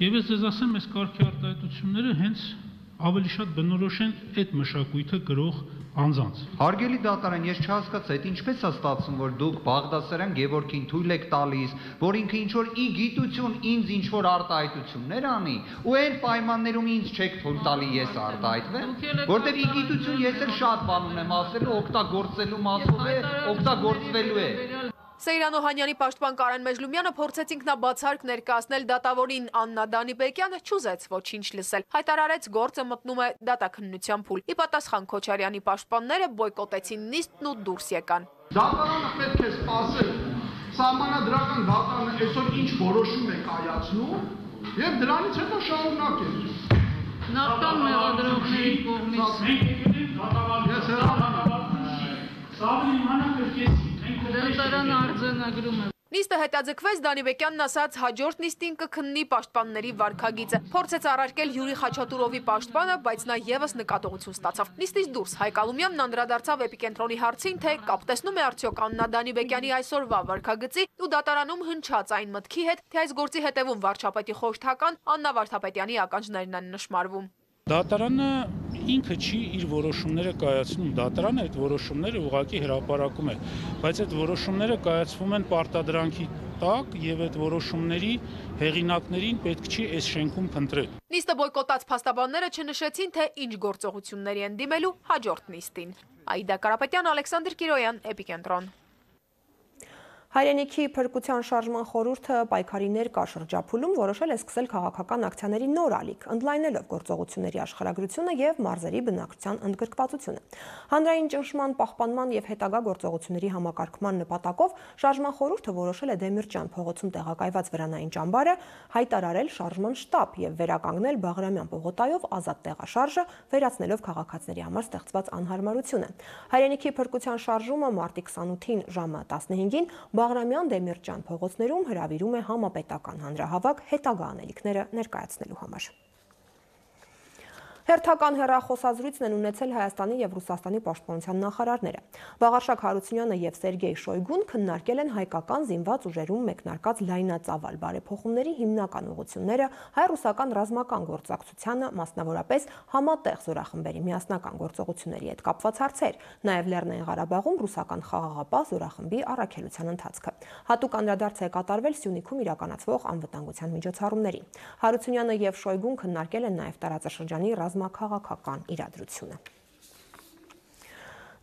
եւ ես ձեզ ասեմ, այս կարգի արտահայտությունները հենց ավելի շատ բնորոշ են այդ մշակույթը գրող անձանց։ Հարգելի դատարան, ես չհասկացա, այդ ինչպես է ստացվում, որ դուք Բաղդասարյան Գևորգին թույլ եք տալիս, որ ինքը ինչ-որ ի գիտություն ինձ ինչ-որ արտահայտություններ անի, ու այն պայմաններում ինձ չեք թույլ տալի ես արտահայտվեմ, որտեղ ի գիտություն ես էլ շատ բան ունեմ ասելու, օգտագործելու մասով է, օգտագործվելու է։ Սեյրան Օհանյանի պաշտպան Կարեն Մեժլումյանը փորձեց ինքնաբացարկ ներկայացնել դատավորին, Աննա Դանիբեկյանը չուզեց ոչինչ լսել, հայտարարեց գործը մտնում է դատաքննության փուլ։ Ի պատասխան Քոչարյանի պաշտպանները բոյկոտեցին նիստն ու դուրս եկան։ Դատարանը պետք է սպասել սահմանադրական դատարանը այսօր ինչ որոշում է կայացնում եւ դրանից հետո շարունակել։ Նախքան մեղադրողների կողմից դատարան արձանագրում է։ Նիստը հետաձգվեց, Դանիբեկյանն ասաց հաջորդ նիստին կքննի պաշտպանների վարքագիծը։ Փորձեց առարկել Յուրի Խաչատուրովի պաշտպանը, բայց նա եւս նկատողություն ստացավ։ Նիստից դուրս Հայկ Ալումյանն անդրադարձավ Էպիկենտրոնի հարցին, թե կապ տեսնում է արդյոք Աննա Դանիբեկյանի այսօրվա վարքագծի ու դատարանում հնչած այն մտքի հետ, թե այս գործի հետևում վարչապետի խորհրդական Աննա Վարդապետյանի ականջներն են նշմարվում։ Դատարանը ինքը չի իր որոշումները կայացնում, դատարանը այդ որոշումները ուղղակի հրապարակում է, բայց այդ որոշումները կայացվում են պարտադրանքի տակ եւ այդ որոշումների հեղինակներին պետք չի այս շենքում փնտրել։ Նիստը բոյկոտած փաստաբանները չնշեցին, թե ինչ գործողությունների են դիմելու հաջորդ նիստին։ Աիդա Կարապետյան, Ալեքսանդր Կիրոյան, Էպիկենտրոն։ Հայրենիքի փրկության շարժման խորհուրդը պայքարի ներկա շրջափուլում որոշել է սկսել քաղաքական ակցիաների նոր ալիք, ընդլայնելով գործողությունների աշխարհագրությունը եւ մարզերի բնակչության ընդգրկվածությունը։ Հանրային ճնշման պահպանման եւ հետագա գործողությունների համակարգման նպատակով շարժման խորհուրդը որոշել է Դեմիրճյան փողոցում տեղակայված վրանային ճամբարը հայտարարել շարժման շտաբ եւ վերականգնել Բաղրամյան պողոտայով ազատ տեղաշարժը, վերացնելով քաղաքացիների համար ստեղծված անհարմարությունը։ Հայրենիքի փրկության շարժումը մարտի 28-ին ժամը 15-ին Բաղրամյան Դեմիրճյան փողոցներում հրավիրում է համապետական հանրահավաք հետագա անելիքները ներկայացնելու համար։ Հերթական հեռախոսազրույցն են ունեցել Հայաստանի եւ Ռուսաստանի պաշտպանության նախարարները։ Վաղարշակ Հարությունյանը եւ Սերգեյ Շոյգուն քննարկել են հայկական զինված ուժերում մեկնարկած լայնածավալ բարեփոխումների հիմնական ուղղությունները, հայ-ռուսական ռազմական գործակցությանը, մասնավորապես համատեղ զորախմբերի միասնական գործողությունների հետ կապված հարցեր, նաեւ Լեռնային Ղարաբաղում ռուսական խաղաղապահ զորախմբի առաքելության ընթացքը։ Հատուկ անդրադարձ է կատարվել Սյունիքում իրականացվող անվտանգության միջոցառումներին։ Հարությունյանը եւ Շոյգուն քննարկել են նաեւ տարածաշրջանի ռազմաքաղաքական իրադրությունը։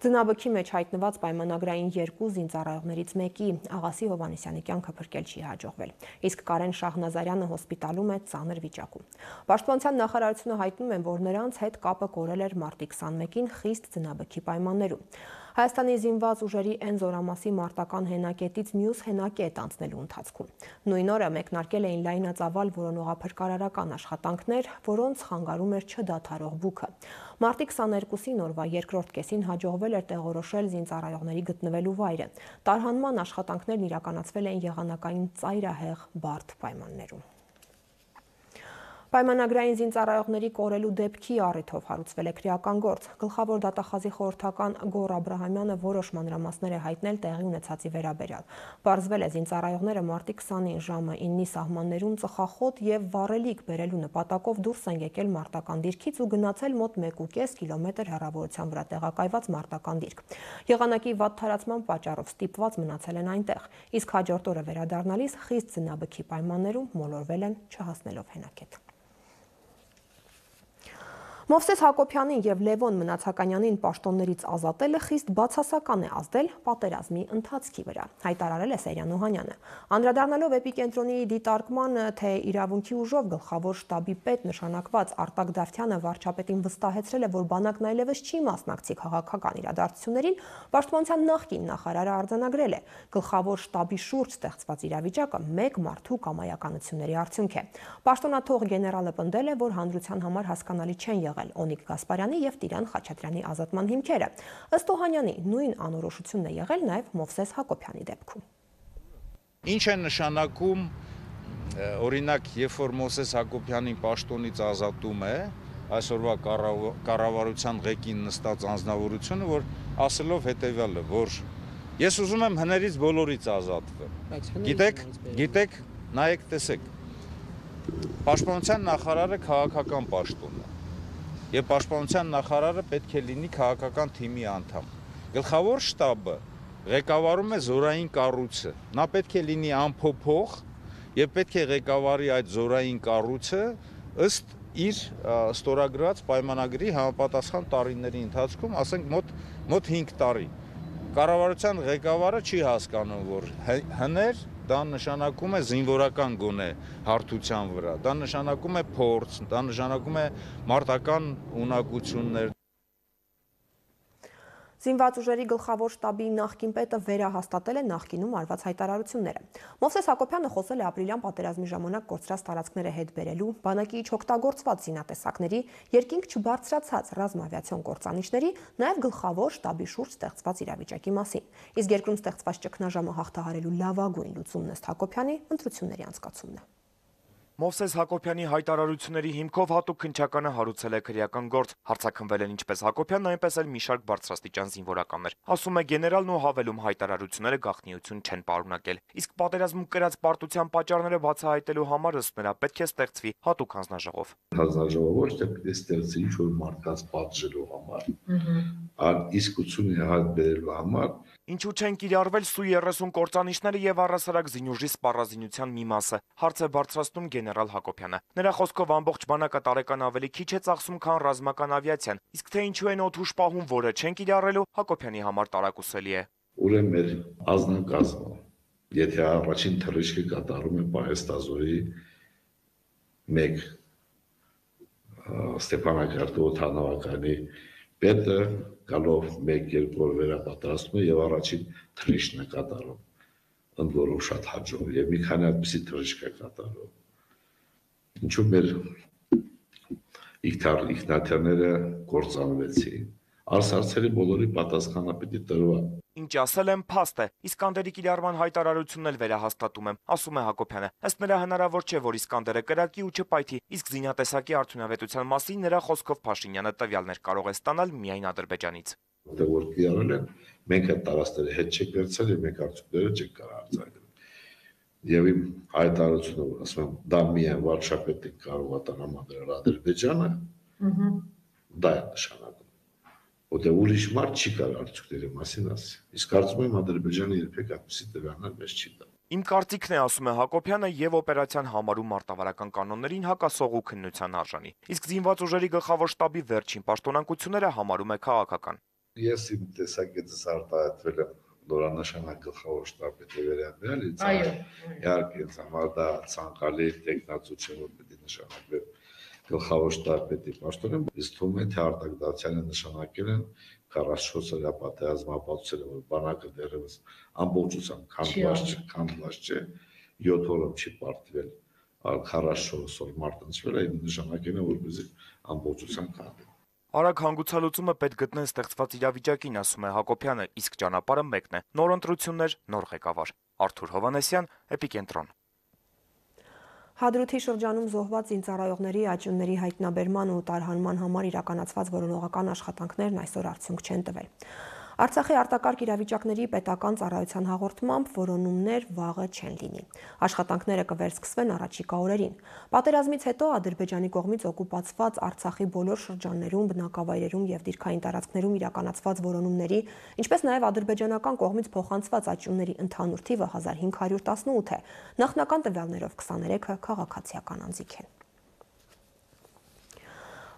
Ձնաբքի մեջ հայտնված պայմանագրային երկու զինծառայողներից մեկի Աղասի Հովհաննիսյանի կյանքը փրկել չի հաջողվել, իսկ Կարեն Շահնազարյանը հոսպիտալում է ծանր վիճակում։ Պաշտպանության նախարարությունը հայտնում է, որ նրանց հետ կապը կորել էր մարտի 21-ին խիստ ձնաբքի պայմաններում։ Հայաստանի զինված ուժերի N զորամասի մարտական հենակետից մյուս հենակետ անցնելու ընթացքում։ Նույն օրը մեկնարկել էին լայնածավալ որոնողափրկարարական աշխատանքներ, որոնց խանգարում էր չդադարող բուքը։ Մարտի 22-ին օրվա երկրորդ կեսին հաջողվել էր տեղորոշել զինծառայողների գտնվելու վայրը։ Տարհանման աշխատանքներն իրականացվել էին եղանակային ծայրահեղ բարդ պայմաններում։ Պայմանագրային զինծառայողների կորելու դեպքի առիթով հարուցվել է քրեական գործ։ Գլխավոր դատախազի խորհրդական Գոռ Աբրահամյանը որոշ մանրամասներ է հայտնել տեղի ունեցածի վերաբերյալ։ Պարզվել է զինծառայողները մարտի 20-ին ժամը 9-ի սահմաններում ծխախոտ եւ վառելիք բերելու նպատակով դուրս են եկել մարտական դիրքից ու գնացել մոտ 1.5 կիլոմետր հեռավորության վրա տեղակայված մարտական դիրք։ Եղանակի վատ թարացման պատճառով ստիպված մնացել են այնտեղ, իսկ հաջորդ օրը վերադառնալիս խիստ ձնաբքի պայմաններում մոլորվել են չհասնելով հենակետ։ Մովսես Հակոբյանին եւ Լևոն Մնացականյանին պաշտոններից ազատելը խիստ բացասական է ազդել պատերազմի ընթացքի վրա, հայտարարել է Սեյրան Օհանյանը։ Անդրադառնալով Էպիկենտրոնի դիտարկմանը, թե իրավունքի ուժով գլխավոր շտաբի պետ նշանակված Արտակ Դավթյանը վարչապետին վստահեցրել է, որ բանակն այլևս չի մասնակցի քաղաքական իրադարձություններին, պաշտպանության նախկին նախարարը արձանագրել է, գլխավոր շտաբի շուրջ ստեղծված իրավիճակը մեկ մարդու կամայականությունների արդյունք է։ Պաշտոնաթող գեներալը պնդել է, որ հանրության համար հասկանալի չեն եղել Օնիկ Գասպարյանի եւ Տիրան Խաչատրյանի ազատման հիմքերը։ Ըստ Օհանյանի նույն անորոշությունն է եղել նաեւ Մովսես Հակոբյանի դեպքում։ Ինչ է նշանակում օրինակ, երբ որ Մովսես Հակոբյանին պաշտոնից ազատում է այսօրվա կառավարության ղեկին նստած անձնավորությունը, որ ասելով հետևյալը, որ ես ուզում եմ հներից բոլորից ազատվեմ։ Գիտեք, նայեք, տեսեք, Պաշտպանության նախարարը քաղաքական պաշտոն է, եւ Պաշտպանության նախարարը պետք է լինի քաղաքական թիմի անդամ։ Գլխավոր շտաբը ղեկավարում է զորային կառույցը, նա պետք է լինի անփոփոխ եւ պետք է ղեկավարի այդ զորային կառույցը ըստ իր ստորագրած պայմանագրի համապատասխան տարիների ընթացքում, ասենք մոտ 5 տարի։ Կառավարության ղեկավարը չի հասկանում, որ հներ դա նշանակում է զինվորական գոնե հարթության վրա, դա նշանակում է փորձ, դա նշանակում է մարտական ունակություններ։ Զինված ուժերի գլխավոր շտաբի նախկին պետը վերահաստատել է նախկինում արված հայտարարությունները։ Մովսես Հակոբյանը խոսել է ապրիլյան պատերազմի ժամանակ կորցրած տարածքները հետ բերելու, բանակի չօգտագործված զինատեսակների, երկինք չբարձրացած ռազմավիացիոն կործանիչների, նաև գլխավոր շտաբի շուրջ ստեղծված իրավիճակի մասին։ Իսկ երկրում ստեղծված ճգնաժամը հաղթահարելու լավագույն լուծումն ըստ Հակոբյանի ընտրությունների անցկացումն է։ Մովսես Հակոբյանի հայտարարությունների հիմքով հատուկ քննչականը հարուցել է քրեական գործ, հարցաքնվել են ինչպես Հակոբյանն, այնպես էլ մի շարք բարձրաստիճան զինվորականներ։ Ասում է գեներալն ու հավելում հայտարարությունները գաղտնիություն չեն պարունակել։ Իսկ պատերազմում կրած պարտության պատճառները բացահայտելու համար ըստ նրա պետք է ստեղծվի հատուկ հանձնաժողով։ Հանձնաժողովը ոչ թե պետք է ստեղծի ինչ-որ մարդկանց պատժելու համար, այլ իսկությունը հայտ բերելու համար։ Ինչու չեն կիրառվել Սու-30 կործանիչները եւ առհասարակ զինուժի սպառազինության մի մասը, հարց է բարձրացնում գեներալ Հակոբյանը։ Նրա խոսքով ամբողջ բանակը տարեկան ավելի քիչ է ծախսում, քան ռազմական ավիացիան, իսկ թե ինչու են օդուժ պահում, որը չեն կիրառելու, Հակոբյանի համար տարակուսելի է։ Ուրեմն մեր ազնագազմը, եթե առաջին թռիչքը կատարում է Պահեստազորի 1 Ստեփանակերտի օդանավականի պետը գալով 1-2 օր վերապատրաստում է եւ առաջին թռիչքն է կատարում, ընդ որում շատ հաջող եւ մի քանի այդպիսի թռիչք է կատարում։ Ինչու մեր իգնատյաները կործանվեցին, արսարցերի բոլորի պատասխանը պիտի տրվա։ Ինչ ասել եմ, փաստ է։ Իսկանդերի կիրառման հայտարարությունն էլ վերահաստատում եմ, ասում է Հակոբյանը։ Ըստ նրա հնարավոր չէ, որ Իսկանդերը կրակի ու չպայթի, իսկ զինատեսակի արդյունավետության մասին նրա խոսքով Փաշինյանը տվյալներ կարող է ստանալ միայն Ադրբեջանից։ Որ կիրառել են, մենք այդ տարածքները հետ չենք վերցրել եւ մենք արդյունքները չենք կարող արձանագրել։ Եվ իմ հայտարարությունը, ասում եմ, դա միայն վարչապետը կարող է տրամադրել Ադրբեջանը, դա է նշանակում։ Որտեղ ուրիշ մարդ չի կարող արդյունքների մասին ասել։ Իսկ կարծում եմ Ադրբեջանը երբեք այդպիսի տվյալներ մեզ չի տա։ Իմ կարծիքն է, ասում է Հակոբյանը, եւ օպերացիան համարում մարտավարական կանոններին հակասող ու քննության արժանի։ Իսկ զինված ուժերի գլխավոր շտաբի վերջին պաշտոնակությունները համարում է քաղաքական։ Ես իմ տեսակետս արտահայտվել եմ նորանշանակ գլխավոր շտաբի վերաբերյալ, իհարկե ինձ համար դա ցանկալի տեխնացություն որ պետք է նշանակվի գլխավոր շտաբի պաշտոնը, իսկ թվում է թե Արտակ Դավթյանը նշանակել են 44 օրյա պատերազմ ապացուցել, որ բանակը դեռևս ամբողջությամբ քանդված չէ, 7 օրում չի պարտվել, այլ 44 օր մարտնչվել է, նշանակել է որպեսզի ամբողջությամբ քանդվի։ Արագ հանգուցալուծումը պետք գտնեն ստեղծված իրավիճակին, ասում է Հակոբյանը, իսկ ճանապարհը մեկն է՝ նոր ընտրություններ, նոր ղեկավար։ Արթուր Հովհաննեսյան, Էպիկենտրոն։ Հադրութի շրջանում զոհված զինծառայողների աճյունների հայտնաբերման ու տարհանման համար իրականացված որոնողական աշխատանքներն այսօր արդյունք չեն տվել։ Արցախի արտակարգ իրավիճակների պետական ծառայության հաղորդմամբ որոնումներ վաղը չեն լինի։ Աշխատանքները կվերսկսվեն առաջիկա օրերին։ Պատերազմից հետո Ադրբեջանի կողմից օկուպացված Արցախի բոլոր շրջաններում, բնակավայրերում եւ դիրքային տարածքներում իրականացված որոնումների, ինչպես նաեւ ադրբեջանական կողմից փոխանցված աճյունների ընդհանուր թիվը 1518 է։ Նախնական տվյալներով 23-ը քաղաքացիական անձիկ են։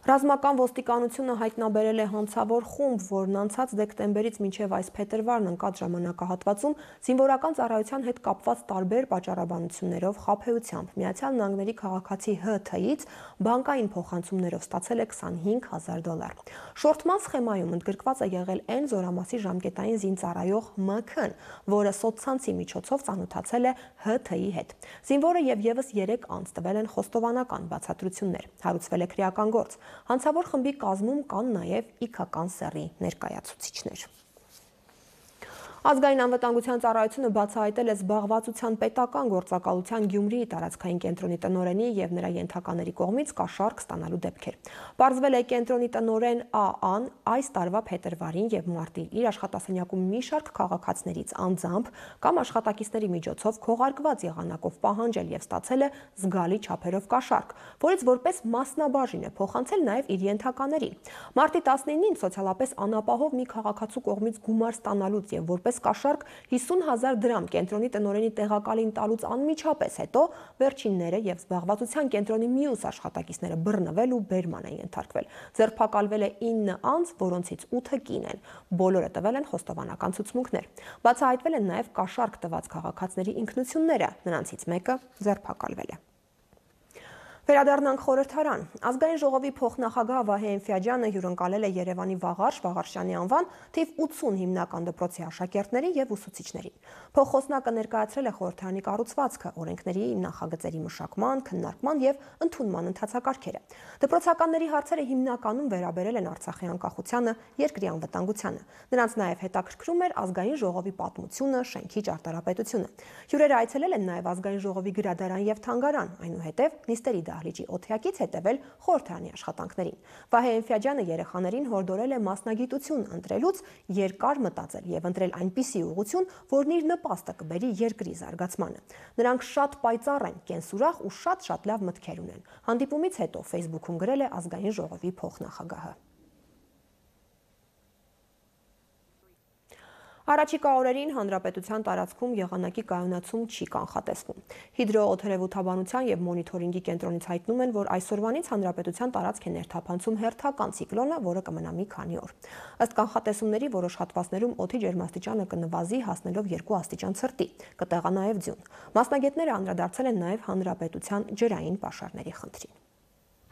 Ռազմական ոստիկանությունը հայտնաբերել է հանցավոր խումբ, որն անցած դեկտեմբերից մինչև այս փետրվարն ընկած ժամանակահատվածում զինվորական ծառայության հետ կապված տարբեր պատճառաբանություններով խաբեությամբ Միացյալ Նահանգների քաղաքացի ՀԹ-ից բանկային փոխանցումներով ստացել է $25,000։ Շորթման սխեմայում ընդգրկված է եղել N զորամասի ժամկետային զինծառայող ՄՔ-ն, որը սոցցանցի միջոցով ծանոթացել է ՀԹ-ի հետ։ Զինվորը եւ եւս 3 անձ տվել են խոստովանական բացատրություններ։ Հարուցվել է քրեական գործ։ Հանցավոր խմբի կազմում կան նաև իգական սեռի ներկայացուցիչներ։ Ազգային անվտանգության ծառայությունը բացահայտել է զբաղվածության պետական գործակալության Գյումրիի տարածքային կենտրոնի տնօրենի եւ նրա ենթակաների կողմից կաշառք ստանալու դեպքեր։ Պարզվել է կենտրոնի տնօրեն ԱԱ-ն այս տարվա փետրվարին եւ մարտին իր աշխատասենյակում մի շարք քաղաքացիներից անձամբ կամ աշխատակիցների միջոցով քողարկված եղանակով պահանջել եւ ստացել է զգալի չափերով կաշառք, որից որպես մասնաբաժին է փոխանցել նաեւ իր ենթականերին։ Մարտի 19-ին սոցիալապես անապահով մի քաղաքացու կողմից գումար ստանալուց եւ որպես կաշառք 50,000 դրամ կենտրոնի տնօրենի տեղակալին տալուց անմիջապես հետո վերջինները եւ զբաղվածության կենտրոնի մյուս աշխատակիցները բռնվել ու բերման են ենթարկվել։ Ձերբակալվել է 9 անձ, որոնցից 8-ը կին են։ Բոլորը տվել են խոստովանական ցուցմունքներ։ Բացահայտվել են նաեւ կաշառք տված քաղաքացիների ինքնությունները, նրանցից մեկը ձերբակալվել է։ Վերադառնանք խորհրդարան։ Ազգային ժողովի փոխնախագահ Վահե Էնֆյաջյանը հյուրընկալել է Երևանի Վաղարշյանի անվան թիվ 80 հիմնական դպրոցի աշակերտների եւ ուսուցիչներին։ Փոխխոսնակը ներկայացրել է խորհրդարանի կառուցվածքը, օրենքների, նախագծերի մշակման, քննարկման եւ ընդունման ընթացակարգերը։ Դպրոցականների հարցերը հիմնականում վերաբերել են Արցախի անկախությանը, երկրի անվտանգությանը։ Նրանց նաեւ հետաքրքրում էր ազգային ժողովի պատմությունը, շենքի ճարտարապետությունը։ Հյուրերը այցելել են նաեւ ազգային ժողովի գրադարան եւ թանգարան, այնուհետեւ նիստերի դահլիճի օթեակից հետևել խորհրդարանի աշխատանքներին։ Վահե Էնֆյաջյանը երեխաներին հորդորել է մասնագիտություն ընտրելուց երկար մտածել եւ ընտրել այնպիսի ուղղություն, որն իր նպաստը կբերի երկրի զարգացմանը։ Նրանք շատ պայծառ են, կենսուրախ ու շատ լավ մտքեր ունեն։ Հանդիպումից հետո Facebook-ում գրել է ազգային ժողովի փոխնախագահը։ Առաջիկա օրերին հանրապետության տարածքում եղանակի կայունացում չի կանխատեսվում։ Հիդրոօթերևութաբանության եւ մոնիթորինգի կենտրոնից հայտնում են, որ այսօրվանից հանրապետության տարածք է ներթափանցում հերթական ցիկլոնը, որը կմնա մի քանի օր։ Ըստ կանխատեսումների որոշ հատվածներում օդի ջերմաստիճանը կնվազի հասնելով 2 աստիճան ցրտի, կտեղա նաեւ ձյուն։ Մասնագետները անդրադարձել են նաեւ հանրապետության ջրային պաշարների խնդրին։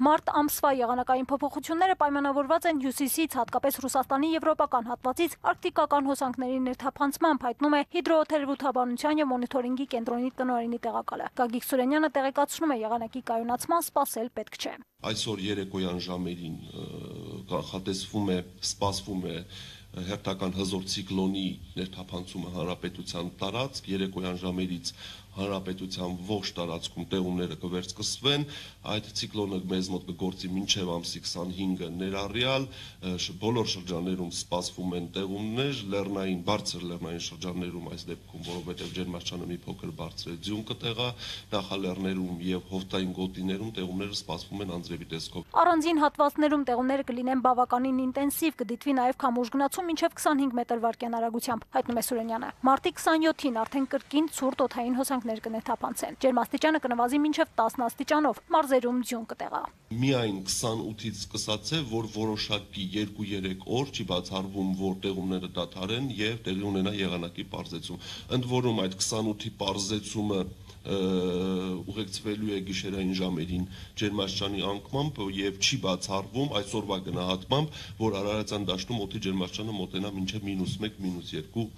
Մարտ ամսվա եղանակային փոփոխությունները պայմանավորված են հյուսիսից, հատկապես Ռուսաստանի եվրոպական հատվածից արկտիկական հոսանքների ներթափանցմամբ, հայտնում է հիդրոօթերևութաբանության եւ մոնիթորինգի կենտրոնի տնօրենի տեղակալը։ Գագիկ Սուրենյանը տեղեկացնում է, եղանակի կայունացման սպասել պետք չէ։ Այսօր երեկոյան ժամերին սպասվում է հերթական հզոր ցիկլոնի ներթափանցումը հանրապետության տարածք, երեկոյան ժամերից հանրապետության ողջ տարածքում տեղումները կվերսկսվեն, այդ ցիկլոնը մեզ մոտ կգործի մինչև ամսի 25-ը ներառյալ, բոլոր շրջաններում սպասվում են տեղումներ, բարձր լեռնային շրջաններում այս դեպքում, որովհետև ջերմաստիճանը մի փոքր բարձր է, ձյուն կտեղա, նախալեռներում եւ հովտային գոտիներում տեղումները սպասվում են անձրևի տեսքով։ Առանձին հատվածներում տեղումները կլինեն բավականին ինտենսիվ, կդիտվի նաեւ քամուշ գնացում մինչև 25 մետր վարկյան արագությամբ, հայտնում է Սուրենյանը։ Մարտի 27-ին արդեն կրկին ցուրտ օդային հոսանքներ կնեթափանցեն։ Ջերմաստիճանը կնվազի մինչև 10 աստիճանով, մարզերում ձյուն կտեղա։ Միայն 28-ից սկսած է, որ որոշակի 2-3 օր չի բացառվում, որ տեղումները դադարեն եւ տեղի ունենա եղանակի պարզեցում։ Ընդ որում այդ 28-ի պարզեցումը ուղեկցվելու է գիշերային ժամերին ջերմաստիճանի անկմամբ եւ չի բացառվում այսօրվա գնահատմամբ, որ Արարատյան դաշտում օդի ջերմաստիճանը մոտենա մինչեւ -1, -2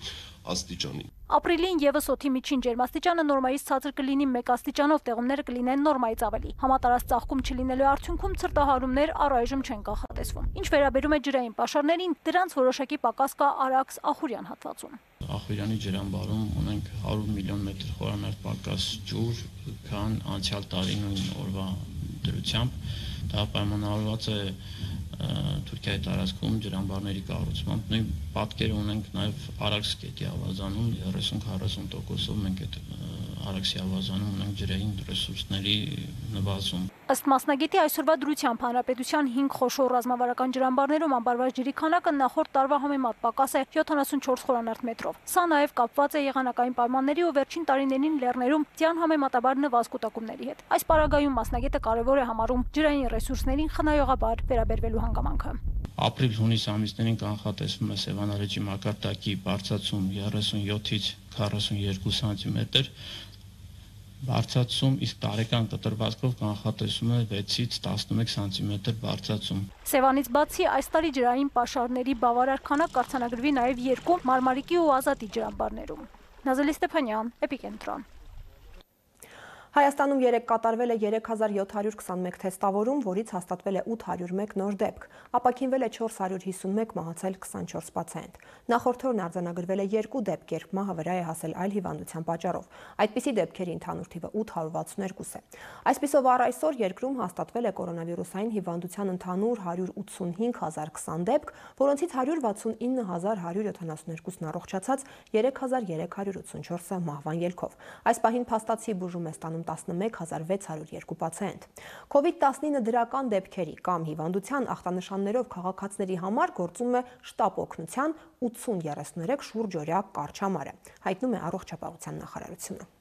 աստիճանի։ Ապրիլին եւս օդի միջին ջերմաստիճանը նորմայից ցածր կլինի 1 աստիճանով, տեղումները կլինեն նորմայից ավելի։ Համատարած ծաղկում չլինելու արդյունքում ցրտահարումներ առայժմ չեն կանխատեսվում։ Ինչ վերաբերում է ջրային պաշարներին, դրանց որոշակի պակաս կա Արաքս-Ախուրյան հատվածում։ Ախուրյանի ջրամբարում ունենք 100 միլիոն մետր խորանարդ պակաս ջուր, քան անցյալ տարի նույն օրվա դրությամբ։ Դա պայմանավորված է Թուրքիայի տարածքում ջրամբարների կառուցմամբ, նույն պատկերը ունենք նաև Արաքս գետի ավազանում 30-40%-ով մենք այդ Արաքսի ավազանում ունենք ջրային ռեսուրսների նվազում։ Ըստ մասնագետի այսօրվա դրությամբ հանրապետության 5 խոշոր ռազմավարական ջրամբարներում ամբարված ջրի քանակը նախորդ տարվա համեմատ պակաս է 74 խորանարդ մետրով։ Սա նաև կապված է եղանակային պայմանների ու վերջին տարիներին լեռներում ձյան համեմատաբար նվազ կուտակումների հետ։ Այս պարագայում մասնագետը կարևոր է համարում ջրային ռեսուրսներին խնայողաբար վերաբերվելու հանգամանքը։ Ապրիլ-հունիս ամիսներին կանխատեսվում է Սևանարեջի մակարդակի բարձրացում 37-ից 42 սանտիմետր, բարձրացում, իսկ տարեկան կտրվածքով կանխատեսում է 6-ից 11 սանտիմետր բարձրացում։ Սևանից բացի այս տարի ջրային պաշարների բավարար քանակ կարձանագրվի նաև 2 Մարմարիկի ու Ազատի ջրամբարներում։ Նազելի Ստեփանյան, Էպիկենտրոն։ Հայաստանում երեկ կատարվել է 3721 թեստավորում, որից հաստատվել է 801 նոր դեպք, ապաքինվել է 451, մահացել 24 պացիենտ։ Նախորդ օրն արձանագրվել է 2 դեպք, երբ մահը վրա է հասել այլ հիվանդության պատճառով։ Այդպիսի դեպքերի ընդհանուր թիվը 862 է։ Այսպիսով առ այսօր երկրում հաստատվել է կորոնավիրուսային հիվանդության ընդհանուր 185,020 դեպք, որոնցից 169,172-ն առողջացած, 3384-ը մահվան ելքով։ Այս պահին փաստացի բուժում է ստանում 11602 պացիենտ։ COVID-19 դրական դեպքերի կամ հիվանդության ախտանշաններով քաղաքացիների համար գործում է շտապ օգնության 8033 շուրջօրյա կառչամարը, հայտնում է Առողջապահության նախարարությունը։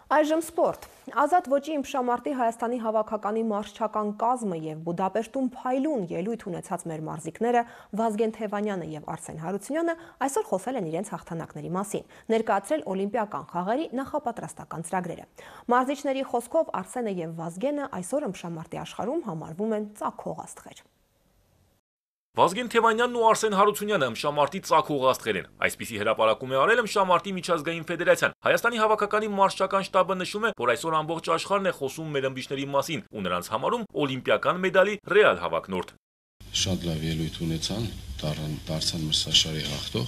Այժմ սպորտ։ Ազատ ոճի իմպշամարտի Հայաստանի հավաքականի մարզչական կազմը և Բուդապեշտում փայլուն ելույթ ունեցած մեր մարզիկները Վազգեն Թևանյանը և Արսեն Հարությունյանը այսօր խոսել են իրենց հաղթանակների մասին, ներկայացրել օլիմպիական խաղերի նախապատրաստական ծրագրերը։ Մարզիչների խոսքով Արսենը և Վազգենը այսօր իմպշամարտի աշխարհում համարվում են ծագող աստղեր։ Վազգեն Թևանյանն ու Արսեն Հարությունյանը իմշամարտի ծագող աստղեր են։ Այսպիսի հրապարակում է արել իմշամարտի միջազգային ֆեդերացիան։ Հայաստանի հավաքականի մարզչական շտաբը նշում է, որ այսօր ամբողջ աշխարհն է խոսում մեր ըմբիշների մասին ու նրանց համարում օլիմպիական մեդալի ռեալ հավակնորդ։ Շատ լավ ելույթ ունեցան, դարձան մրցաշարի հաղթող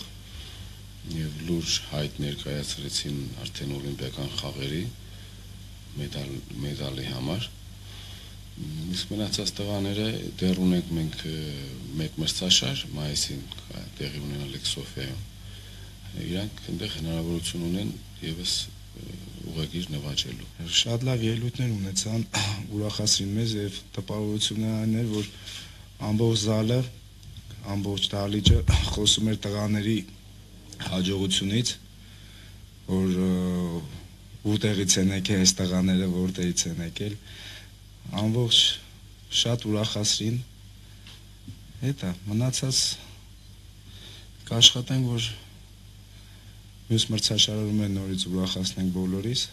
եւ լուրջ հայտ ներկայացրեցին արդեն օլիմպիական խաղերի մեդալի համար։ Իսկ մնացած տղաները դեռ ունենք մենք մեկ մրցաշար մայիսին տեղի ունենալիք Սոֆիայում։ Իրանք այնտեղ հնարավորություն ունեն եւս ուղղագիր նվաճելու։ Շատ լավ ելույթներ ունեցան, ուրախացրին մեզ եւ տպավորությունն այն էր, որ ամբողջ զալը, ամբողջ դահլիճը խոսում էր տղաների հաջողությունից, որ որտեղից են եկել այս տղաները, որտեղից են եկել։ Ամբողջ շատ ուրախացրին, հետա մնացած կաշխատենք, որ մյուս մրցաշարերում նորից ուրախացնենք բոլորիս։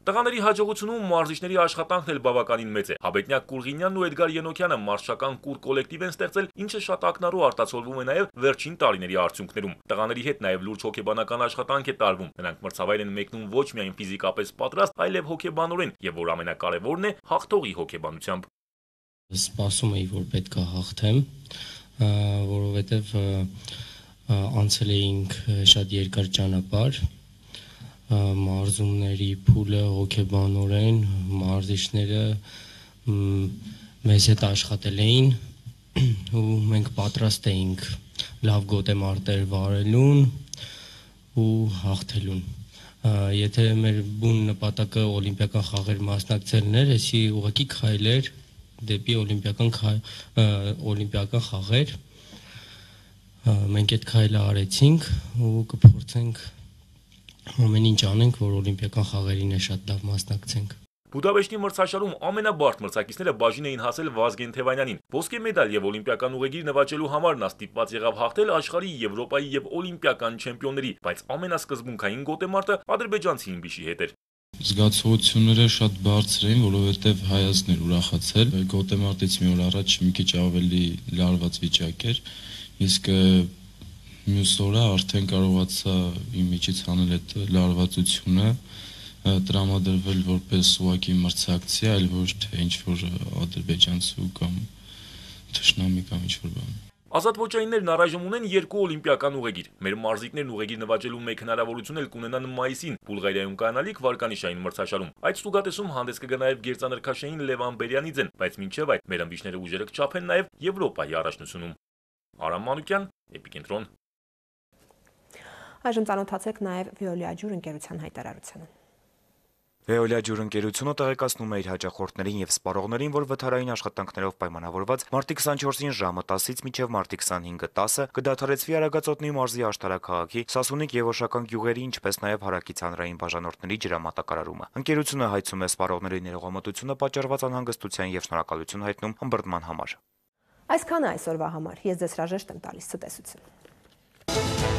Տղաների հաջողությունում մարզիչների աշխատանքն էլ բավականին մեծ է։ Հաբետնյակ Կուրղինյանն ու Էդգար Ենոքյանը մարզչական կուր կոլեկտիվ են ստեղծել, ինչը շատ ակնառու արտացոլվում է նաև վերջին տարիների արդյունքներում։ Տղաների հետ նաև լուրջ հոգեբանական աշխատանք է տարվում։ Նրանք մրցավայր են մեկնում ոչ միայն ֆիզիկապես պատրաստ, այլև հոգեբանորեն, եւ որ ամենակարևորն է, հաղթողի հոգեբանությամբ։ Սպասում էի, որ պետք է հաղթեմ, որովհետեւ անցել էինք շատ երկար ճանապարհ, մարզումների փուլը հոգեբանորեն, մարզիչները մեզ հետ աշխատել էին ու մենք պատրաստ էինք լավ գոտեմարտեր վարելուն ու հաղթելուն։ Եթե մեր բուն նպատակը օլիմպիական խաղեր մասնակցելն էր, էսի ուղղակի քայլեր դեպի օլիմպիական խաղեր, մենք այդ քայլը արեցինք ու կփորձենք ամեն ինչ անենք, որ օլիմպիական խաղերին է շատ լավ մասնակցենք։ Բուդապեշտի մրցաշարում ամենաբարդ մրցակիցները բաժին էին հասել Վազգեն Թևանյանին։ Ոսկե մեդալ եւ օլիմպիական ուղեգիր նվաճելու համար նա ստիպված եղավ հաղթել աշխարհի, Եվրոպայի եւ օլիմպիական չեմպիոնների, բայց ամենասկզբունքային գոտեմարտը ադրբեջանցի իմբիշի հետ էր։ Զգացողությունները շատ բարձր էին, որովհետեւ հայացքն էր ուրախացել։ Գոտեմարտից մի օր առաջ մի քիչ ավելի լարված վիճակ էր, իսկ մյուս օրը արդեն կարողացա իմ միջից հանել այդ լարվածությունը, տրամադրվել որպես ուղղակի մրցակցի, այլ ոչ թե ինչ-որ ադրբեջանցու կամ թշնամի կամ ինչ-որ բան։ Ազատ ոճայիններն առայժմ ունեն 2 օլիմպիական ուղեգիր։ Մեր մարզիկներն ուղեգիր նվաճելու մեկ հնարավորություն էլ կունենան մայիսին Բուլղարիայում կանալիք վարկանիշային մրցաշարում։ Այդ ստուգատեսում հանդես կգա նաև գերծանրքաշային Լևան Բերյանիձեն, բայց մինչև այդ մեր ըմբիշները ուժերը կչափեն նաև Եվրոպայի առաջնությունում։ Արամ Մանուկյան, Էպիկենտրոն։ Այժմ ծանոթացեք նաև Veolia ջուր ընկերության հայտարարությանը։ Veolia ջուր ընկերությունը տեղեկացնում է իր հաճախորդներին եւ սպառողներին, որ վթարային աշխատանքներով պայմանավորված մարտի 24-ին ժամը 10-ից մինչև մարտի 25-ը 10-ը կդադարեցվի Արագածոտնի մարզի աշտարակահաղի, Սասունիկ եւ Օշական գյուղերի, ինչպես նաև հարակից հանրային բաժանորդների ջրամատակարարումը։ Ընկերությունը հայցում է սպառողների ներողամտությունը պատճառված անհանգստության եւ շնորհակալություն հայտնում ըմբռնման համար։ Այսքանը այսօրվա համար։ Ես ձեզ հրաժեշտ եմ տալիս ցտեսություն։